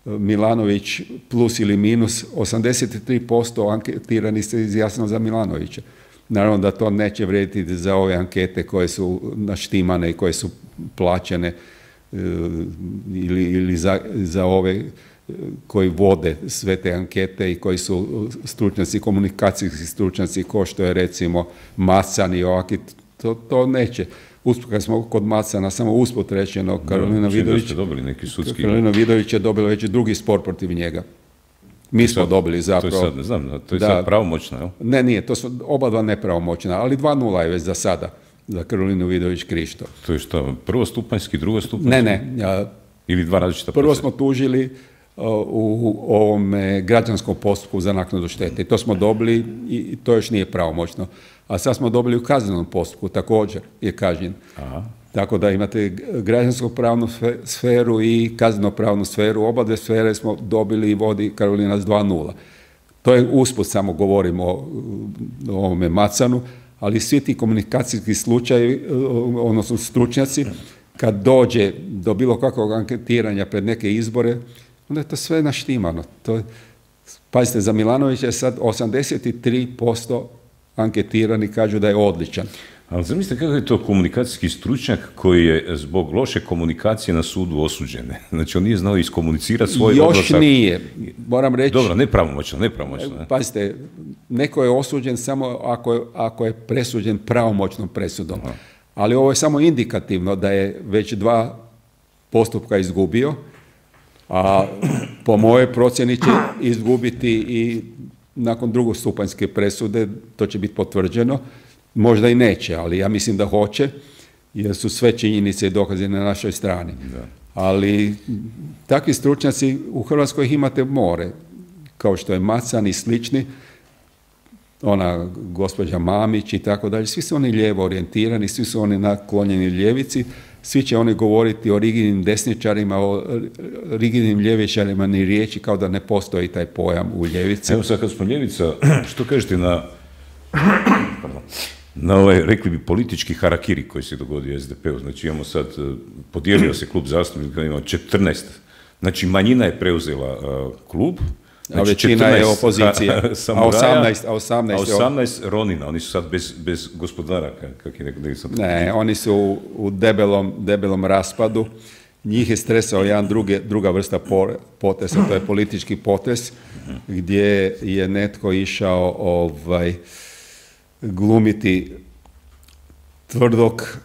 Milanović plus ili minus, osamdeset tri posto anketirani se izjasnilo za Milanovića. Naravno da to neće vrijediti za ove ankete koje su naštimane i koje su plaćene ili, ili za, za ove koji vode sve te ankete i koji su stručnjaci, komunikacijski stručnjaci, ko što je recimo Macan i ovaki, to, to neće. Usput, kad smo kod Macana, samo usput rečeno, Karolina Vidović, Karolina Vidović je dobila već drugi spor protiv njega. Mi smo sad, dobili zapravo. To je sad, ne znam, to je da, sad pravomoćno, jel? Ne, nije, to su oba dva nepravomoćna, ali dva nula je već za sada, za Karolinu Vidović-Krišto. To je što, prvostupanjski, drugostupanjski? Ne, ne. Ja, ili dva različita prvo procesa? Smo tužili uh, u ovom građanskom postupku za naknadu štete. I to smo dobili i to još nije pravomoćno. A sad smo dobili u kaznenom postupku, također je kažnjen. Aha. Tako da imate građansko-pravnu sferu i kazneno-pravnu sferu. Oba dve sfere smo dobili i vodi Karolina s dva nula. To je usput, samo govorimo o, o ovome Macanu, ali svi ti komunikacijski slučajevi, odnosno stručnjaci, kad dođe do bilo kakvog anketiranja pred neke izbore, onda je to sve naštimano. To je, pazite, za Milanovića je sad osamdeset tri posto anketirani kažu da je odličan. Ali zamislite kako je to komunikacijski stručnjak koji je zbog loše komunikacije na sudu osuđen. Znači on nije znao iskomunicirati svoj Još odlasak. Još nije, moram reći. Dobro, nepravomoćno, nepravomoćno. Ne? Pazite, neko je osuđen samo ako je, ako je presuđen pravomoćnom presudom. Aha. Ali ovo je samo indikativno da je već dva postupka izgubio, a po mojoj procjeni će izgubiti i nakon drugostupanjske presude, to će biti potvrđeno. Možda i neće, ali ja mislim da hoće, jer su sve činjenice i dokaze na našoj strani. Da. Ali takvi stručnjaci u Hrvatskoj ih imate more, kao što je Macan i slični, ona gospođa Mamić i tako dalje. Svi su oni lijevo orijentirani, svi su oni naklonjeni ljevici, svi će oni govoriti o rigidnim desničarima, o rigidnim ljevičarima, ni riječi, kao da ne postoji taj pojam u ljevici. Evo sad kad smo ljevica, što kažete na... Pardon. Na ovaj, rekli bi, politički harakiri koji se dogodio S D P-u. Znači imamo sad, podijelio se klub zastupnika, imamo četrnaest. Znači manjina je preuzela uh, klub. Znači, a većina je opozicija. A osamnaest, a osamnaest, a osamnaest Ronina, oni su sad bez, bez gospodara. Kak je neko, ne, oni su u, u debelom, debelom raspadu. Njih je stresao jedan druge, druga vrsta potesa, to je politički potes, gdje je netko išao ovaj, glumiti tvrdog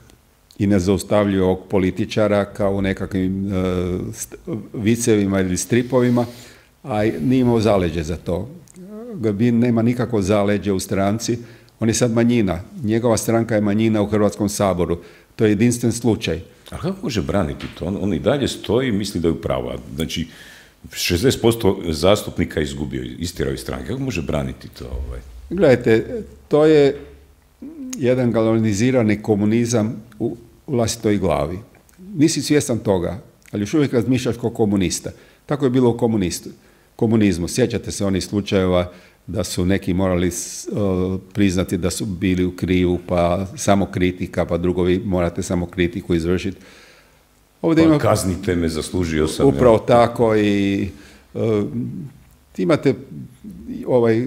i nezaustavljivog političara kao u nekakvim uh, vicevima ili stripovima, a nije imao zaleđe za to. Grbin nema nikakvo zaleđe u stranci, on je sad manjina. Njegova stranka je manjina u Hrvatskom saboru. To je jedinstven slučaj. A kako može braniti to? On, on i dalje stoji i misli da je u pravu. Znači, šezdeset posto zastupnika izgubio, istirao iz stranke. Kako može braniti to? Ovaj? Gledajte, to je jedan galvanizirani komunizam u vlastitoj glavi. Nisi svjestan toga, ali još uvijek razmišljaš kao komunista. Tako je bilo u komunistu, komunizmu. Sjećate se onih slučajeva da su neki morali uh, priznati da su bili u krivu, pa samo kritika, pa drugovi morate samo kritiku izvršiti. Ovdje pa ima, kaznite me, zaslužio sam. Upravo ja. Tako i uh, imate ovaj,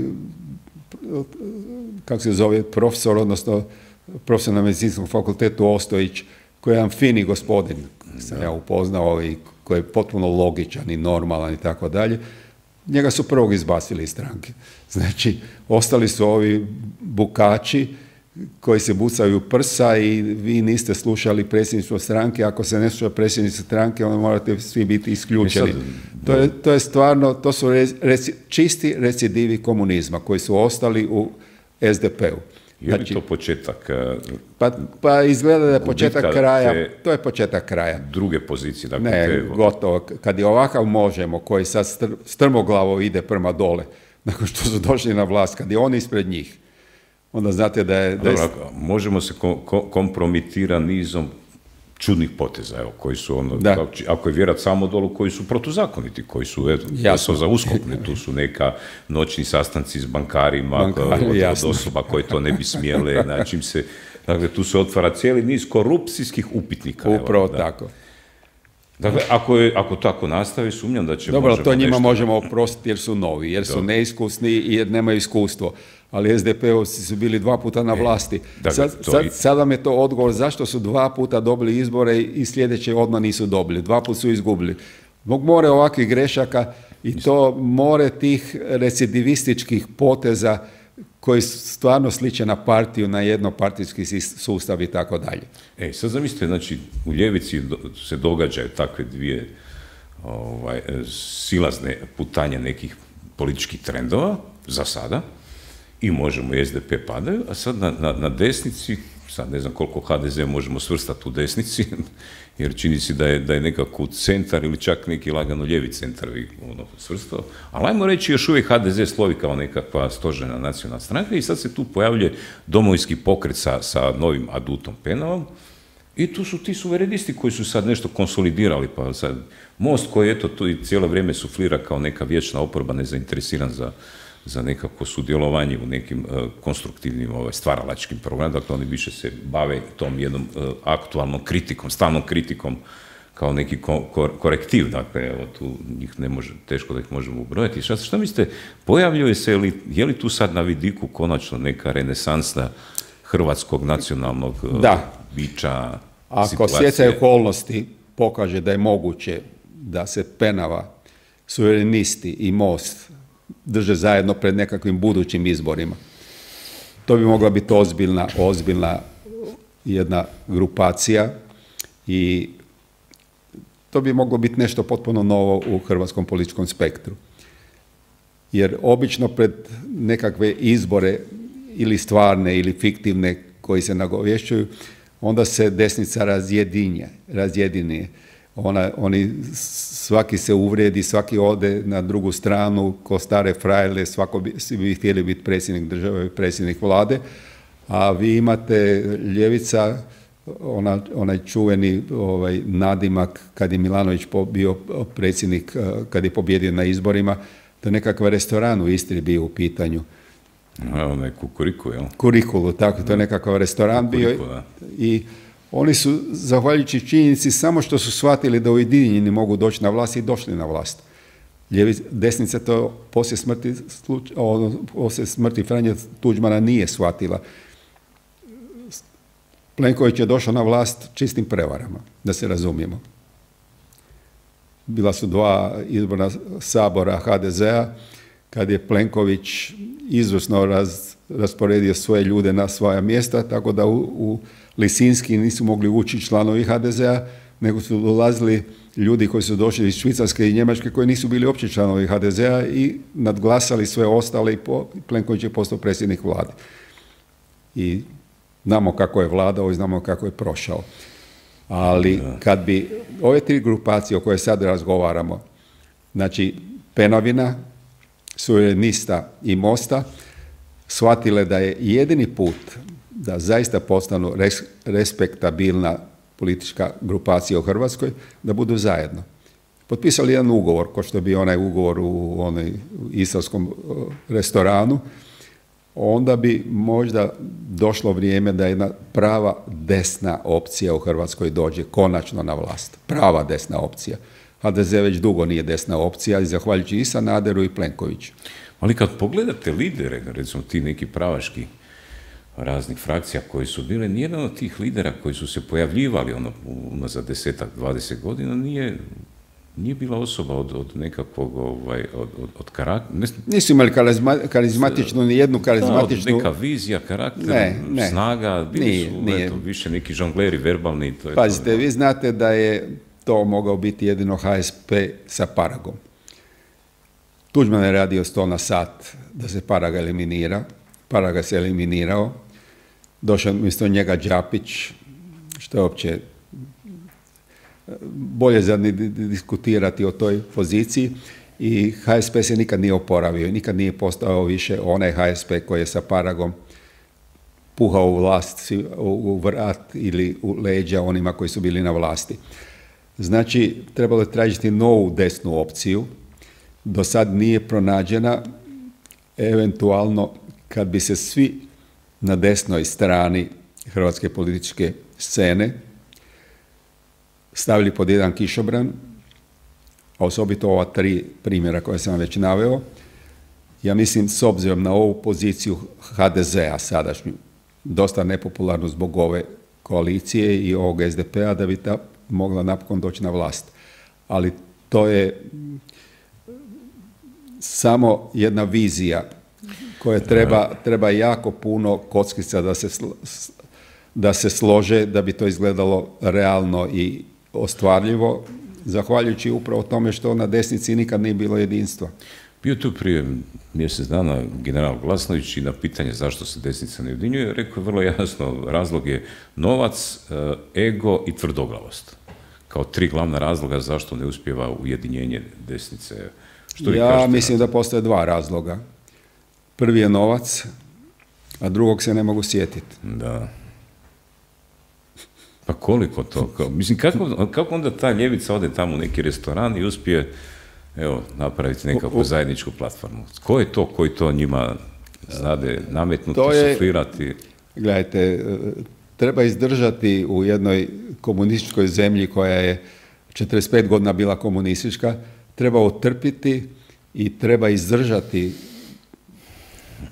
kako se zove, profesor, odnosno profesor na medicinskom fakultetu Ostojić, koji je jedan fini gospodin, sam ja upoznao i koji je potpuno logičan i normalan i tako dalje. Njega su prvog izbacili iz stranke. Znači, ostali su ovi bukači koji se bucaju u prsa i vi niste slušali predsjedništvo stranke. Ako se ne sluša predsjedništvo stranke, onda morate svi biti isključeni. Sad, to, je, to je stvarno, to su reci, čisti recidivi komunizma koji su ostali u es de pe u. Je li znači, to početak? Pa, pa izgleda da je početak kraja. To je početak kraja. Druge pozicije. Dakle, ne, te... gotovo. Kad je ovakav Možemo, koji sad str, strmoglavo ide prema dole, nakon što su došli na vlast, kad je on ispred njih, onda znate da je... Da je... Dobro, Možemo se ko, ko, kompromitira nizom čudnih poteza, evo, koji su ono, da. Ako je vjerat samo dolu, koji su protuzakoniti, koji su, eto, su za uskok, ne, tu su neka noćni sastanci s bankarima, Bankari, od osoba koje to ne bi smjele, na čim se, dakle, tu se otvara cijeli niz korupcijskih upitnika. Upravo evo, da. tako. Dakle, ako, je, ako tako nastavi, sumnjam da će... Dobro, to njima nešto... možemo oprostiti jer su novi, jer su Dobro. neiskusni i jer nemaju iskustvo. Ali es de pe ovci su bili dva puta na vlasti. E, sad, sad, sad vam je to odgovor zašto su dva puta dobili izbore i sljedeće odmah nisu dobili. Dva puta su izgubili. Zbog more ovakvih grešaka i to more tih recidivističkih poteza koji stvarno sliče na partiju, na jednopartijski sustav i tako dalje. E, sad zamislite, znači, u ljevici se događaju takve dvije ovaj, silazne putanje nekih političkih trendova, za sada, i Možemo i es de pe padaju, a sad na, na, na desnici, sad ne znam koliko ha de ze možemo svrstati u desnici, jer čini se da je, da je nekako centar ili čak neki lagano ljevi centar ono, svrstao, ali ajmo reći još uvijek ha de ze slovi kao nekakva stožerna nacionalna stranka i sad se tu pojavljuje Domovinski pokret sa, sa novim adutom Penavom i tu su ti suverenisti koji su sad nešto konsolidirali, pa sad Most koji eto tu i cijelo vrijeme suflira kao neka vječna oporba nezainteresiran za za nekako sudjelovanje u nekim uh, konstruktivnim ovaj, stvaralačkim programima, dakle oni više se bave tom jednom uh, aktualnom kritikom, stalnom kritikom kao neki ko, ko, korektiv, dakle evo tu njih ne može, teško da ih možemo ubrojati. Šta, šta mislite, pojavljuje se, ili, je li tu sad na vidiku konačno neka renesansa hrvatskog nacionalnog uh, da. bića, Ako situacije? stjecaj okolnosti pokaže da je moguće da se Penava, suverenisti i Most drže zajedno pred nekakvim budućim izborima. To bi mogla biti ozbiljna, ozbiljna jedna grupacija i to bi moglo biti nešto potpuno novo u hrvatskom političkom spektru. Jer obično pred nekakve izbore ili stvarne ili fiktivne koji se nagovješćuju, onda se desnica razjedinje, razjedinje. Ona, oni, svaki se uvrijedi, svaki ode na drugu stranu, ko stare frajle, svako bi, svi bi htjeli biti predsjednik države, predsjednik vlade, a vi imate ljevica, ona, onaj čuveni ovaj, nadimak kad je Milanović bio predsjednik, kad je pobjedio na izborima, da nekakav restoran u Istri bio u pitanju. A, onaj Kukuriku, jel? Kurikulu, tako, to je nekakav restoran bio i oni su, zahvaljujući činjenici, samo što su shvatili da ujedinjeni mogu doći na vlast i došli na vlast. Ljevi, desnica to poslije smrti, ono, poslije smrti Franje Tuđmana nije shvatila. Plenković je došao na vlast čistim prevarama, da se razumijemo. Bila su dva izborna sabora ha de zea, kad je Plenković izvrsno raz, rasporedio svoje ljude na svoja mjesta, tako da u, u Lisinski nisu mogli ući članovi ha de zea, nego su dolazili ljudi koji su došli iz Švicarske i Njemačke koji nisu bili opći članovi ha de zea i nadglasali sve ostale i po, Plenković je postao predsjednik vlade. I znamo kako je vladao i znamo kako je prošao. Ali kad bi ove tri grupacije o koje sad razgovaramo, znači Penavina, Suverenista i Mosta, shvatile da je jedini put da zaista postanu res, respektabilna politička grupacija u Hrvatskoj, da budu zajedno. Potpisali jedan ugovor, ko što bi onaj ugovor u onoj istarskom restoranu, onda bi možda došlo vrijeme da jedna prava desna opcija u Hrvatskoj dođe konačno na vlast. Prava desna opcija. ha de ze već dugo nije desna opcija i zahvaljujući i Sanaderu i Plenkoviću. Ali kad pogledate lidere, recimo ti neki pravaški raznih frakcija koji su bile, nijedan od tih lidera koji su se pojavljivali ono, unazad desetak, dvadeset godina nije nije bila osoba od, od nekakvog, ovaj, od, od, od karaktera. Nisu imali karizma, karizmatičnu, ni jednu karizmatičnu... Da, neka vizija, karakter, ne, ne. snaga, bili nije, su nije. Eto, više neki žongleri, verbalni. To je Pazite, to, vi znate da je to mogao biti jedino H S P sa Paragom. Tuđman je radio sto na sat da se Paraga eliminira. Paraga se eliminirao. Došao umjesto njega Đapić, što je uopće bolje za diskutirati o toj poziciji. I H S P se nikad nije oporavio, nikad nije postao više onaj H S P koji je sa Paragom puhao u vlast, u vrat ili u leđa onima koji su bili na vlasti. Znači, trebalo je tražiti novu desnu opciju. Do sad nije pronađena, eventualno kad bi se svi na desnoj strani hrvatske političke scene stavili pod jedan kišobran, a osobito ova tri primjera koje sam vam već naveo, ja mislim s obzirom na ovu poziciju H D Z-a sadašnju, dosta nepopularnu zbog ove koalicije i ovog S D P-a, da bi ta mogla napokon doći na vlast. Ali to je samo jedna vizija koja treba, treba jako puno kockica da se, da se slože, da bi to izgledalo realno i ostvarljivo, zahvaljujući upravo tome što na desnici nikad nije bilo jedinstva. Bio tu prije mjesec dana general Glasnović i na pitanje zašto se desnica ne ujedinjuje, rekao je vrlo jasno, razlog je novac, ego i tvrdoglavost. Kao tri glavna razloga zašto ne uspijeva ujedinjenje desnice. Što ja mislim da postoje dva razloga. Prvi je novac, a drugog se ne mogu sjetiti. Da. Pa koliko to? Kao, mislim, kako, kako onda ta ljevica ode tamo u neki restoran i uspije, evo, napraviti nekakvu zajedničku platformu? Ko je to koji to njima znade nametnuti, je, suflirati? Gledajte, treba izdržati u jednoj komunističkoj zemlji koja je četrdeset pet godina bila komunistička, treba otrpiti i treba izdržati,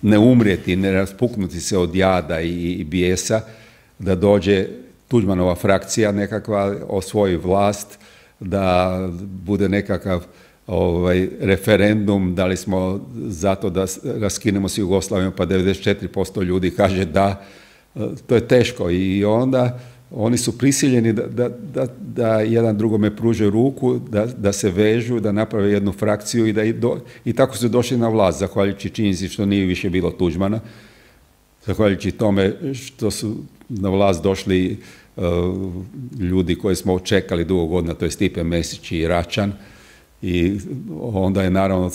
ne umrijeti, ne raspuknuti se od jada i, i bijesa, da dođe Tuđmanova frakcija nekakva, osvoji vlast, da bude nekakav ovaj, referendum, da li smo zato da raskinemo s Jugoslavijom, pa devedeset četiri posto ljudi kaže da, to je teško i onda oni su prisiljeni da, da, da, da jedan drugome pruže ruku, da, da se vežu, da naprave jednu frakciju i, da i, do, i tako su došli na vlast, zahvaljujući činjenici što nije više bilo Tuđmana, zahvaljujući tome što su na vlast došli uh, ljudi koje smo očekali dugo godina, to je Stipe Mesić i Račan, i onda je naravno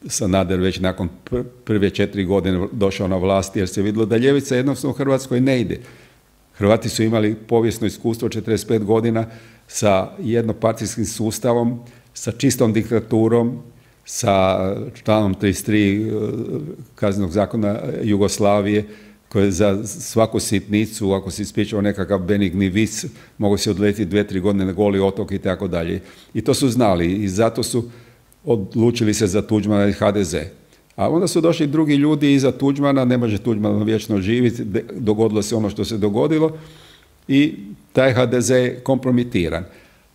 Sanader već nakon pr- prve četiri godine došao na vlast, jer se vidjelo da ljevica jednostavno u Hrvatskoj ne ide. Hrvati su imali povijesno iskustvo četrdeset pet godina sa jednopartijskim sustavom, sa čistom diktaturom, sa članom trideset tri Kaznenog zakona Jugoslavije, koje za svaku sitnicu, ako se ispričao nekakav benigni vic, mogu se odletiti dve, tri godine na Goli otok i tako dalje. I to su znali i zato su odlučili se za Tuđmana i H D Z. A onda su došli drugi ljudi iza Tuđmana, ne može Tuđman vječno živjeti, dogodilo se ono što se dogodilo i taj H D Z je kompromitiran.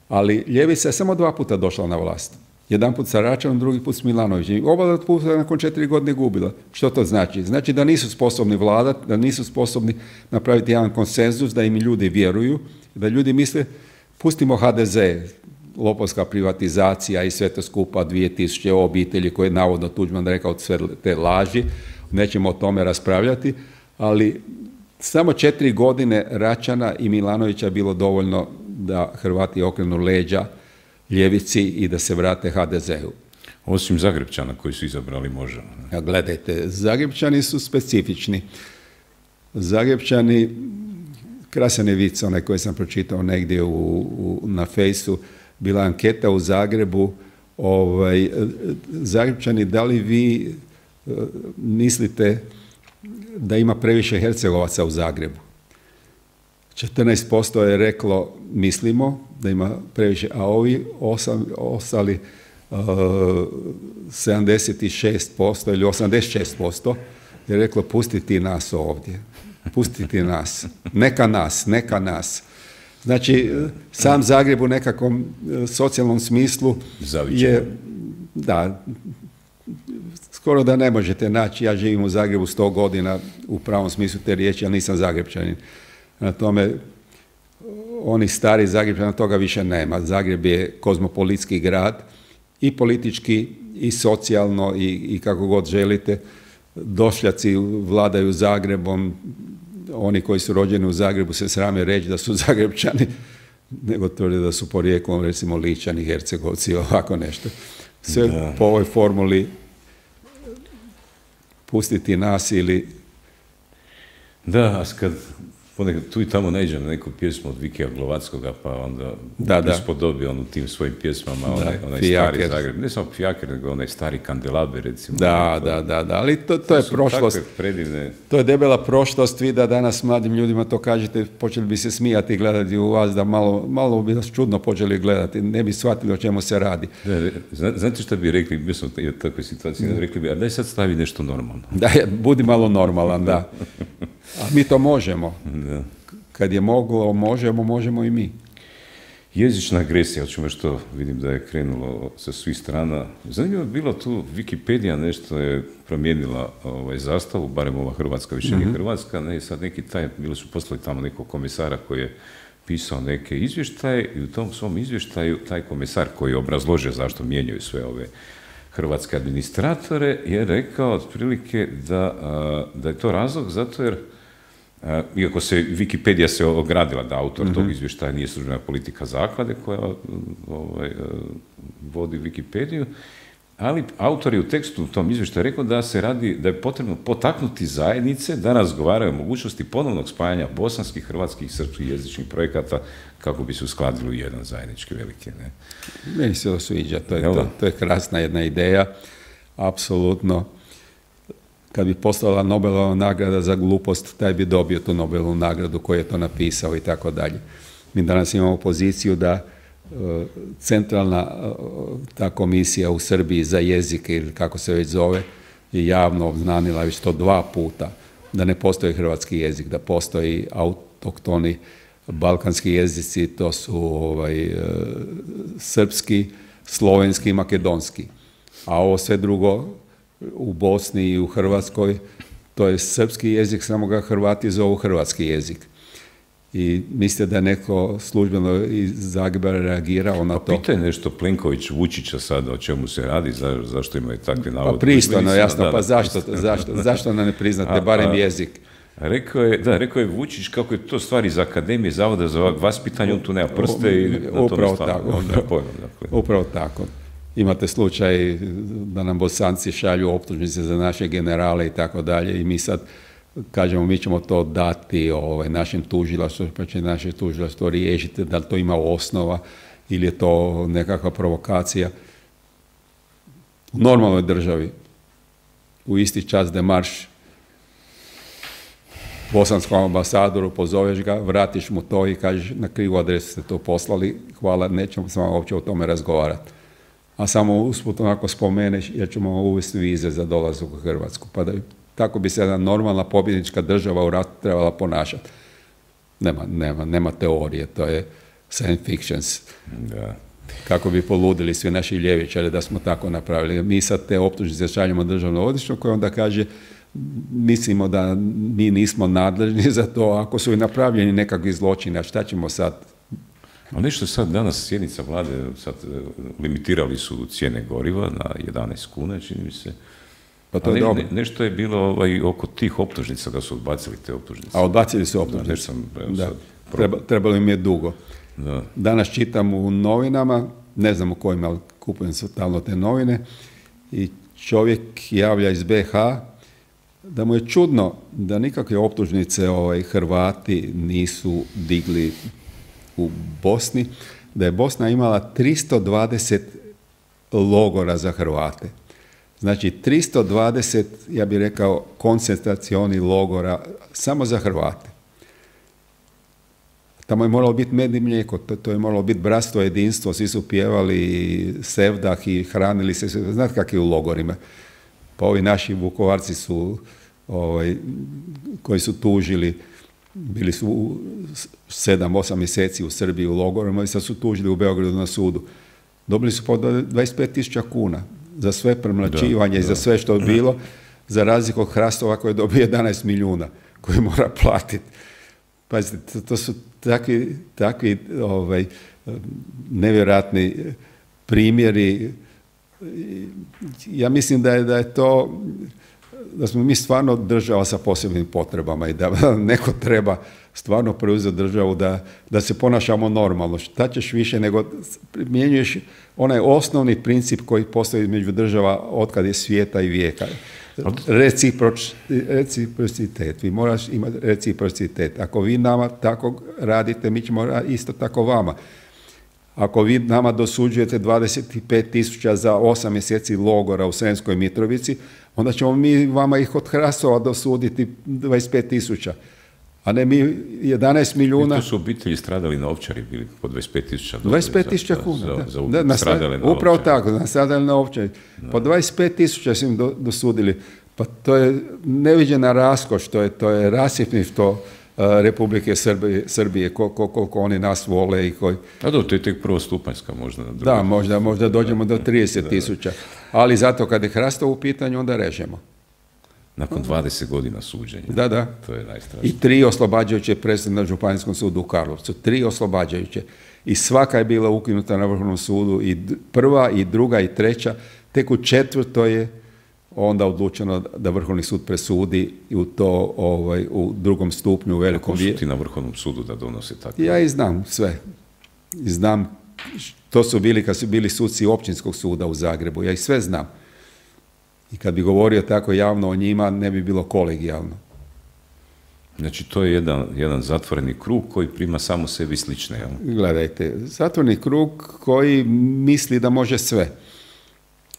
Ali ljevica je samo dva puta došla na vlast. Jedan put sa Račanom, drugi put s Milanovićem. Oba puta nakon četiri godine gubila. Što to znači? Znači da nisu sposobni vladati, da nisu sposobni napraviti jedan konsenzus, da im ljudi vjeruju, da ljudi misle pustimo H D Z, lopovska privatizacija i sve to skupa, dvije tisuće obitelji koje je navodno Tuđman rekao sve te laži, nećemo o tome raspravljati, ali samo četiri godine Račana i Milanovića bilo dovoljno da Hrvati okrenu leđa ljevici i da se vrate H D Z-u. Osim Zagrebčana koji su izabrali Možemo. Ja, gledajte, Zagrebčani su specifični. Zagrebčani, krasan je vic, onaj koji sam pročitao negdje u, u, na fejsu, bila anketa u Zagrebu, ovaj, Zagrebčani, da li vi uh, mislite da ima previše Hercegovaca u Zagrebu? četrnaest posto je reklo mislimo da ima previše, a ovi osam, ostali uh, sedamdeset šest posto ili osamdeset šest posto je reklo pustiti nas ovdje, pustiti nas, neka nas, neka nas. Znači, sam Zagreb u nekakvom socijalnom smislu Zavičan. je, da, skoro da ne možete naći. Ja živim u Zagrebu sto godina u pravom smislu te riječi, ali nisam Zagrepčanin. Na tome, oni stari Zagrebčana toga više nema. Zagreb je kozmopolitski grad i politički i socijalno i, i kako god želite. Došljaci vladaju Zagrebom, oni koji su rođeni u Zagrebu se srame reći da su Zagrepčani, nego tvrde da su porijeklom recimo Ličani, Hercegovci, ovako nešto. Sve da. Po ovoj formuli pustiti nas ili... Da, a kad ponekad tu i tamo naiđem na neku pjesmu od Vikija Glovatskoga, pa onda da, da. ispodobio on u tim svojim pjesmama, da, onaj, onaj stari Zagreb. Ne samo Fijaker, nego onaj stari Kandelaber, recimo. Da, da, da, da, ali to, to, to je prošlost. Predivne... To je debela prošlost, vi da danas mladim ljudima to kažete, počeli bi se smijati i gledati u vas, da malo, malo bi nas čudno počeli gledati, ne bi shvatili o čemu se radi. Da, znate što bi rekli, bio sam u takvoj situaciji, da. rekli bi, a daj sad stavi nešto normalno. Da, budi malo normalan, da. A mi to možemo. Da. Kad je moglo, možemo, možemo i mi. Jezična agresija, o čemu što vidim da je krenulo sa svih strana. Zanimljivo je bilo tu, Wikipedia nešto je promijenila ovaj, zastavu, barem ova Hrvatska, više nije mm-hmm. Hrvatska, ne, sad neki taj, bili su poslali tamo nekog komisara koji je pisao neke izvještaje i u tom svom izvještaju taj komisar koji je obrazložio zašto mijenjaju sve ove hrvatske administratore je rekao otprilike da, da je to razlog zato jer iako se Wikipedia se ogradila da autor mm-hmm. tog izvještaja nije službena politika zaklade koja ovaj, vodi Wikipediju, ali autor je u tekstu u tom izvještaju rekao da se radi, da je potrebno potaknuti zajednice da razgovaraju o mogućnosti ponovnog spajanja bosanskih, hrvatskih i srpskih jezičnih projekata kako bi se uskladili u jedan zajednički veliki. Ne? Meni se to sviđa, to je, to, to je krasna jedna ideja, apsolutno. Kad bi postala Nobelova nagrada za glupost, taj bi dobio tu Nobelovu nagradu koji je to napisao i tako dalje. Mi danas imamo poziciju da uh, centralna uh, ta komisija u Srbiji za jezike, ili kako se već zove, je javno obznanila već to dva puta, da ne postoji hrvatski jezik, da postoji autoktoni balkanski jezici, to su ovaj, uh, srpski, slovenski i makedonski. A ovo sve drugo u Bosni i u Hrvatskoj, to je srpski jezik, samo ga Hrvati zovu hrvatski jezik. I mislite da je neko službeno iz Zagreba reagirao na to? A pitaj nešto Plenković Vučića sada o čemu se radi, za, zašto imaju takve navode? Pa pristojno, jasno, da, pa zašto, zašto, zašto ne priznate a, barem a, jezik? Rekao je, da, rekao je Vučić kako je to stvar iz Akademije Zavoda za vaspitanje, on tu nema prste i na to upravo tako. Pojma, dakle. Upravo tako. Imate slučaj da nam Bosanci šalju optužnice za naše generale i tako dalje i mi sad kažemo mi ćemo to dati ovaj, našim tužilaštvu, pa će naše tužilaštvo riješiti da li to ima osnova ili je to nekakva provokacija. U normalnoj državi u isti čas da marš bosanskom ambasadoru, pozoveš ga, vratiš mu to i kažeš na krivu adresu ste to poslali, hvala, nećemo s vama uopće o tome razgovarati. A samo usput onako spomeneš, jer ćemo uvesti vize za dolazak u Hrvatsku. Pa da, tako bi se jedna normalna pobjednička država u ratu trebala ponašati. Nema, nema, nema teorije, to je science fictions. Da. Kako bi poludili svi naši ljevičari da smo tako napravili. Mi sad te optužnice šaljemo državno odvjetništvo koje onda kaže mislimo da mi nismo nadležni za to, ako su i napravljeni nekakvi zločini, a šta ćemo sad? Ali nešto sad danas sjednica vlade, sad limitirali su cijene goriva na jedanaest kuna, čini mi se. Pa to je dobro. Ne, nešto je bilo ovaj, oko tih optužnica, da su odbacili te optužnice. A odbacili su optužnice. Da, sam, da. Treba, trebalo im je dugo. Da. Danas čitam u novinama, ne znam u kojima, ali kupujem stalno te novine, i čovjek javlja iz be ha da mu je čudno da nikakve optužnice ovaj, Hrvati nisu digli u Bosni, da je Bosna imala tristo dvadeset logora za Hrvate. Znači, tristo dvadeset, ja bih rekao, koncentracioni logora samo za Hrvate. Tamo je moralo biti med i mlijeko, to, to je moralo biti bratstvo, jedinstvo, svi su pjevali sevdah i hranili se, znate kak je u logorima. Pa ovi naši Vukovarci su, ovaj, koji su tužili bili su sedam, osam mjeseci u Srbiji u logorima i sad su tužili u Beogradu na sudu. Dobili su po dvadeset pet tisuća kuna za sve premlaćivanje i za sve što je bilo, za razliku od Hrastova koji je dobio jedanaest milijuna koji mora platiti. Pazite, to, to su takvi, takvi ovaj, nevjerojatni primjeri. Ja mislim da je, da je to, da smo mi stvarno država sa posebnim potrebama i da neko treba stvarno preuzeti državu da, da se ponašamo normalno. Šta ćeš više nego primjenjuješ onaj osnovni princip koji postoji između država otkad je svijeta i vijeka. Reciproč, reciprocitet. Vi moraš imati reciprocitet. Ako vi nama tako radite, mi ćemo isto tako vama. Ako vi nama dosuđujete dvadeset pet tisuća za osam mjeseci logora u Sremskoj Mitrovici, onda ćemo mi vama ih od Hrastova dosuditi dvadeset pet tisuća. A ne mi jedanaest milijuna. I to su obitelji stradali na Ovčari bili po dvadeset pet tisuća. dvadeset pet tisuća kuna. Za, da. za, da, na, stradali na upravo Ovčari. tako, na stradali na Ovčari. Po dvadeset pet tisuća su im do, dosudili. Pa to je neviđena raskoš, to je, to je rasipništvo uh, Republike Srbije, Srbije koliko, koliko oni nas vole i koji... A do, to je tek prvostupanjska možda. Na da, možda, možda dođemo do trideset tisuća. Ali zato kad je Hrastov u pitanju, onda režemo. Nakon dvadeset godina suđenja. Da, da. To je najstrašnije. I tri oslobađajuće presude na Županijskom sudu u Karlovcu. Tri oslobađajuće. I svaka je bila ukinuta na Vrhovnom sudu. I prva, i druga, i treća. Tek u četvrtoj je onda odlučeno da Vrhovni sud presudi i u to ovaj, u drugom stupnju u velikom vijeću. Ko su ti na Vrhovnom sudu da donose tako? Ja i znam sve. I znam, to su bili kad su bili suci Općinskog suda u Zagrebu. Ja ih sve znam. I kad bi govorio tako javno o njima, ne bi bilo kolegijalno. Znači, to je jedan, jedan zatvoreni krug koji prima samo sebi slične. Jel? Gledajte, zatvoreni krug koji misli da može sve.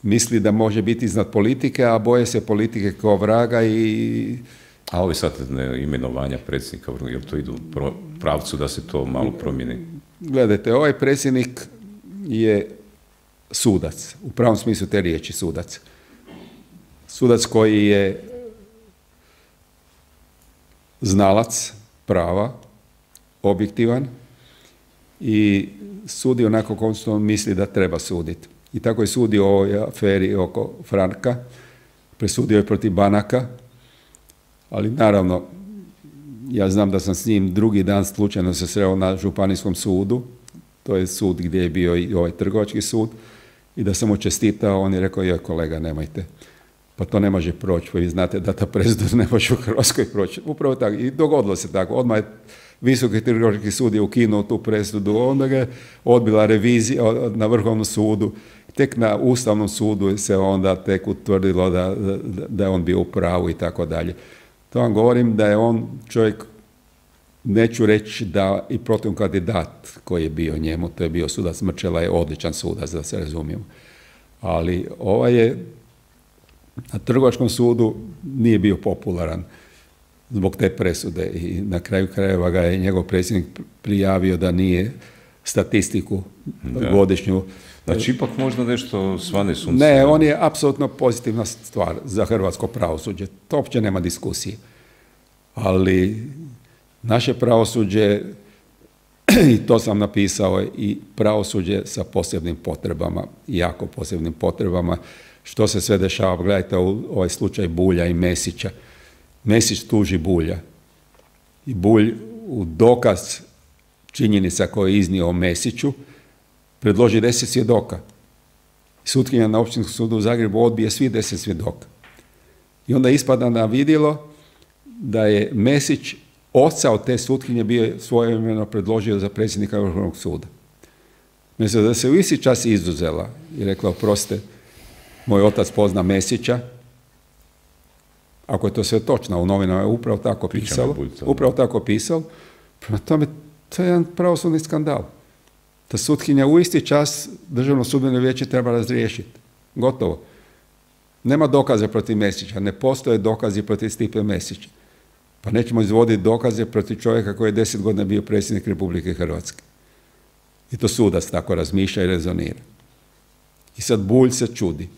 Misli da može biti iznad politike, a boje se politike kao vraga i... A ove sad ne, imenovanja predsjednika, jel to idu u pravcu da se to malo promijeni? Gledajte, ovaj predsjednik je sudac, u pravom smislu te riječi sudac. Sudac koji je znalac prava, objektivan i sudi onako kako što on misli da treba suditi. I tako je sudio o ovoj aferi oko Franka, presudio je protiv banaka, ali naravno, ja znam da sam s njim drugi dan slučajno se sreo na Županijskom sudu, to je sud gdje je bio i ovaj trgovački sud, i da sam mu čestitao, on je rekao, joj kolega, nemojte. Pa to ne može proći, pa vi znate da ta presuda ne može u Hrvatskoj proći. Upravo tako, i dogodilo se tako. Odmah je Visoki trgovački sud je ukinuo tu presudu, onda ga je odbila revizija na Vrhovnom sudu. Tek na Ustavnom sudu se onda tek utvrdilo da, da, da je on bio u pravu i tako dalje. To vam govorim da je on čovjek, neću reći da i protiv kandidat koji je bio njemu, to je bio sudac Mrčela, je odličan sudac, da se razumijemo. Ali ovaj je na Trgovačkom sudu nije bio popularan zbog te presude i na kraju krajeva ga je njegov predsjednik prijavio da nije statistiku da. godišnju. Znači, ipak možda nešto svane sunce. Ne, on je apsolutno pozitivna stvar za hrvatsko pravosuđe. To uopće nema diskusije. Ali naše pravosuđe, i to sam napisao, i pravosuđe sa posebnim potrebama, jako posebnim potrebama, što se sve dešava. Gledajte ovaj slučaj Bulja i Mesića. Mesić tuži Bulja. I Bulj u dokaz činjenica koje je iznio o Mesiću predloži deset svjedoka. Sutkinja na Općinskom sudu u Zagrebu odbije svi deset svjedoka. I onda ispada na vidjelo da je Mesić, oca od te sutkinje, bio svojevremeno predložio za predsjednika Vrhovnog suda. Mislim da se u isti čas izuzela i rekla, oprostite, moj otac pozna Mesića, ako je to sve točno, u novinama je upravo tako pisalo, upravo tako pisalo, prema tome, to je jedan pravosudni skandal. Ta sutkinja u isti čas Državno sudbeno vijeće treba razriješiti. Gotovo. Nema dokaze protiv Mesića, ne postoje dokazi protiv Stipe Mesića. Pa nećemo izvoditi dokaze protiv čovjeka koji je deset godina bio predsjednik Republike Hrvatske. I to sudac tako razmišlja i rezonira. I sad Bulj se čudi.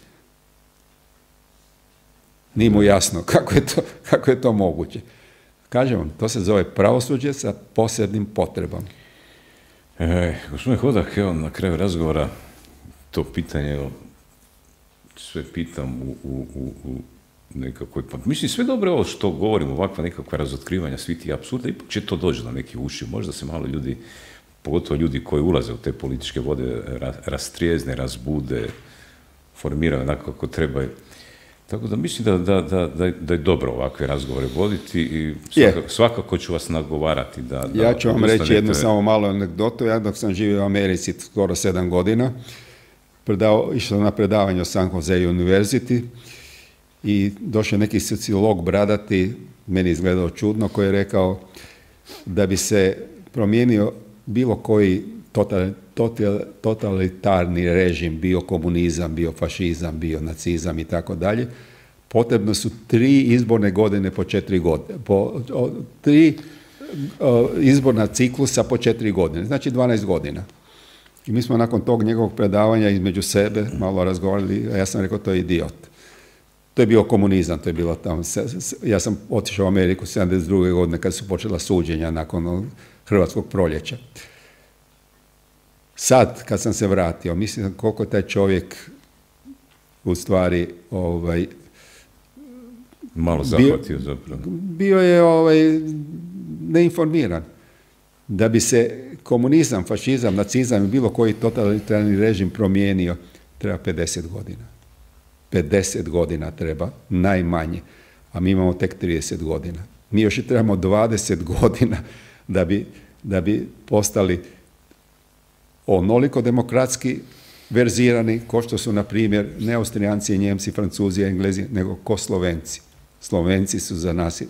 Nije mu jasno kako je to, kako je to moguće. Kažem vam, to se zove pravosuđe sa posebnim potrebama. E, gospodin Hodak, evo na kraju razgovora to pitanje, evo, sve pitam u, u, u, u nekakvoj, pa mislim sve dobro ovo što govorimo, ovakva nekakva razotkrivanja, svi ti apsurda, ipak će to doći do nekih uši, možda se malo ljudi, pogotovo ljudi koji ulaze u te političke vode, rastrijezne, razbude, formiraju onako kako trebaju. Tako da mislim da, da, da, da, da je dobro ovakve razgovore voditi i svakako, svakako ću vas nagovarati. Da, da ja ću vam reći jednu samo malu anegdotu. Ja dok sam živio u Americi skoro sedam godina, predao, išao na predavanje o San Jose University i došao neki sociolog bradati, meni izgledao čudno, koji je rekao da bi se promijenio bilo koji total, total, totalitarni režim, bio komunizam, bio fašizam, bio nacizam i tako dalje, potrebno su tri izborne godine po četiri godine, po o, tri o, izborna ciklusa po četiri godine, znači dvanaest godina. I mi smo nakon tog njegovog predavanja između sebe malo razgovarali, a ja sam rekao to je idiot. To je bio komunizam, to je bilo tamo. Ja sam otišao u Ameriku sedamdeset druge godine kad su počela suđenja nakon Hrvatskog proljeća. Sad, kad sam se vratio, mislim koliko taj čovjek u stvari ovaj, malo zahvatio zapravo. Bio je ovaj, neinformiran. Da bi se komunizam, fašizam, nacizam i bilo koji totalitarni režim promijenio, treba pedeset godina. pedeset godina treba, najmanje. A mi imamo tek trideset godina. Mi još i trebamo dvadeset godina da bi, da bi postali onoliko demokratski verzirani, ko što su, na primjer, ne Austrijanci, Njemci, Francuzi, Englezi, nego ko Slovenci. Slovenci su za nas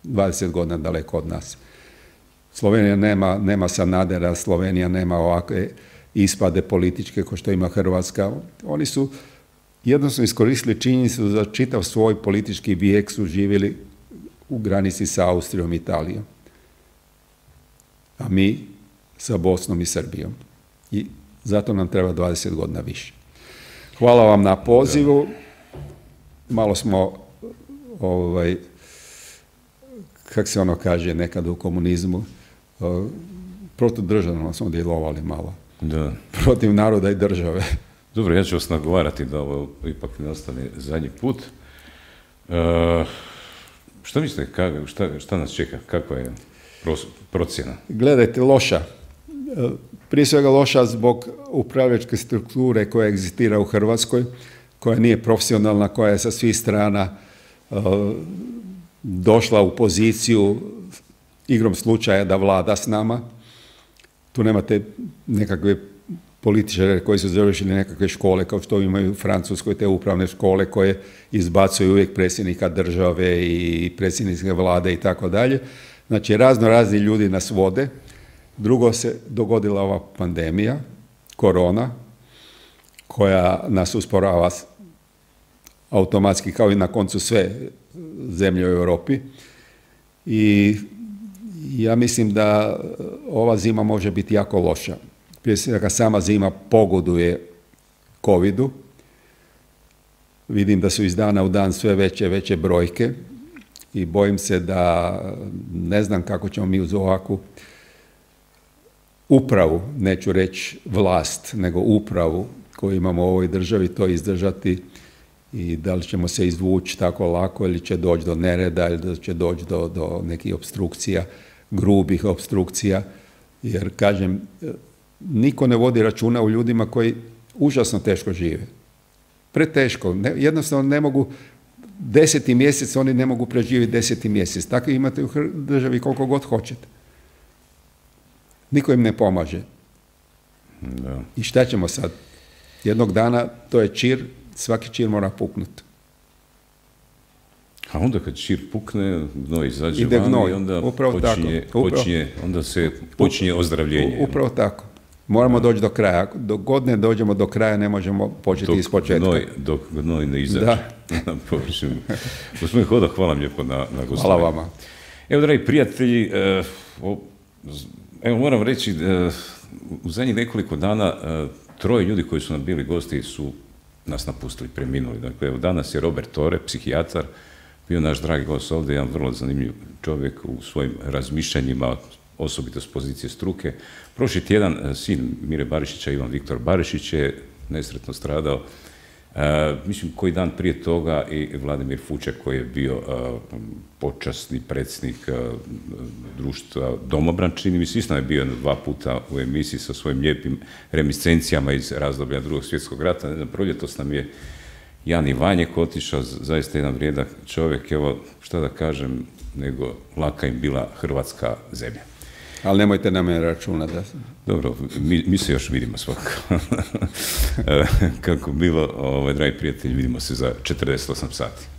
dvadeset godina daleko od nas. Slovenija nema, nema Sanadera, Slovenija nema ovakve ispade političke kao što ima Hrvatska. Oni su jednostavno iskoristili činjenicu za čitav svoj politički vijek su živjeli u granici sa Austrijom i Italijom. A mi sa Bosnom i Srbijom. I zato nam treba dvadeset godina više. Hvala vam na pozivu. Malo smo, ovaj, kak se ono kaže nekad u komunizmu, protudržavno smo djelovali malo. Da. Protiv naroda i države. Dobro, ja ću vas nagovarati da ovo ipak ne ostane zadnji put. Uh, šta mislite, kak, šta, šta nas čeka? Kakva je procjena? Gledajte, loša. Prije svega loša zbog upravljačke strukture koja egzistira u Hrvatskoj, koja nije profesionalna, koja je sa svih strana uh, došla u poziciju igrom slučaja da vlada s nama. Tu nemate nekakve političare koji su završili nekakve škole, kao što imaju u Francuskoj, te upravne škole koje izbacuju uvijek predsjednika države i predsjedničke vlade i tako dalje. Znači, razno razni ljudi nas vode. Drugo, se dogodila ova pandemija, korona, koja nas usporava automatski, kao i na koncu sve zemlje u Europi. I ja mislim da ova zima može biti jako loša. Prije svega sama zima pogoduje covidu. Vidim da su iz dana u dan sve veće, veće brojke i bojim se da ne znam kako ćemo mi uz ovakvu upravu, neću reći vlast, nego upravu koju imamo u ovoj državi to izdržati i da li ćemo se izvući tako lako ili će doći do nereda ili da će doći do, do nekih opstrukcija, grubih opstrukcija, jer kažem, niko ne vodi računa u ljudima koji užasno teško žive. Preteško. Ne, jednostavno ne mogu, deseti mjesec oni ne mogu preživjeti deseti mjesec. Tako imate u državi koliko god hoćete. Niko im ne pomaže. Da. I šta ćemo sad? Jednog dana to je čir, svaki čir mora puknuti. A onda kad čir pukne, gnoj izađe Ide van gnoj. i onda Upravo počinje, tako. Upravo. počinje, onda se počinje ozdravljenje. Upravo tako. Moramo doći do kraja. Dok god ne dođemo do kraja, ne možemo početi dok iz početka. Gnoj, dok gnoj ne izađe. Da. Na površinu. Gospodin Hodak, hvala vam lijepo na, na gostovanju. Hvala vama. Evo, dragi prijatelji, eh, o, evo moram reći, eh, u zadnjih nekoliko dana eh, troje ljudi koji su nam bili gosti su nas napustili, preminuli. Dakle, evo, danas je Robert Tore, psihijatar, bio naš dragi gost ovdje, jedan vrlo zanimljiv čovjek u svojim razmišljanjima, osobito s pozicije struke. Prošli tjedan sin Mire Barišića, Ivan Viktor Barišić, je nesretno stradao. E, mislim, koji dan prije toga i Vladimir Fuček, koji je bio a, počasni predsjednik a, društva Domobran, čini mi se, isto je bio dva puta u emisiji sa svojim lijepim reminiscencijama iz razdoblja Drugog svjetskog rata. Ne znam, proljetos nam je Jan Ivanjek otišao, zaista jedan vrijedak čovjek, evo, šta da kažem, nego laka im bila hrvatska zemlja. Ali nemojte na mene računati. Da... Dobro, mi, mi se još vidimo svakako. Kako bilo, ovaj, dragi prijatelji, vidimo se za četrdeset osam sati.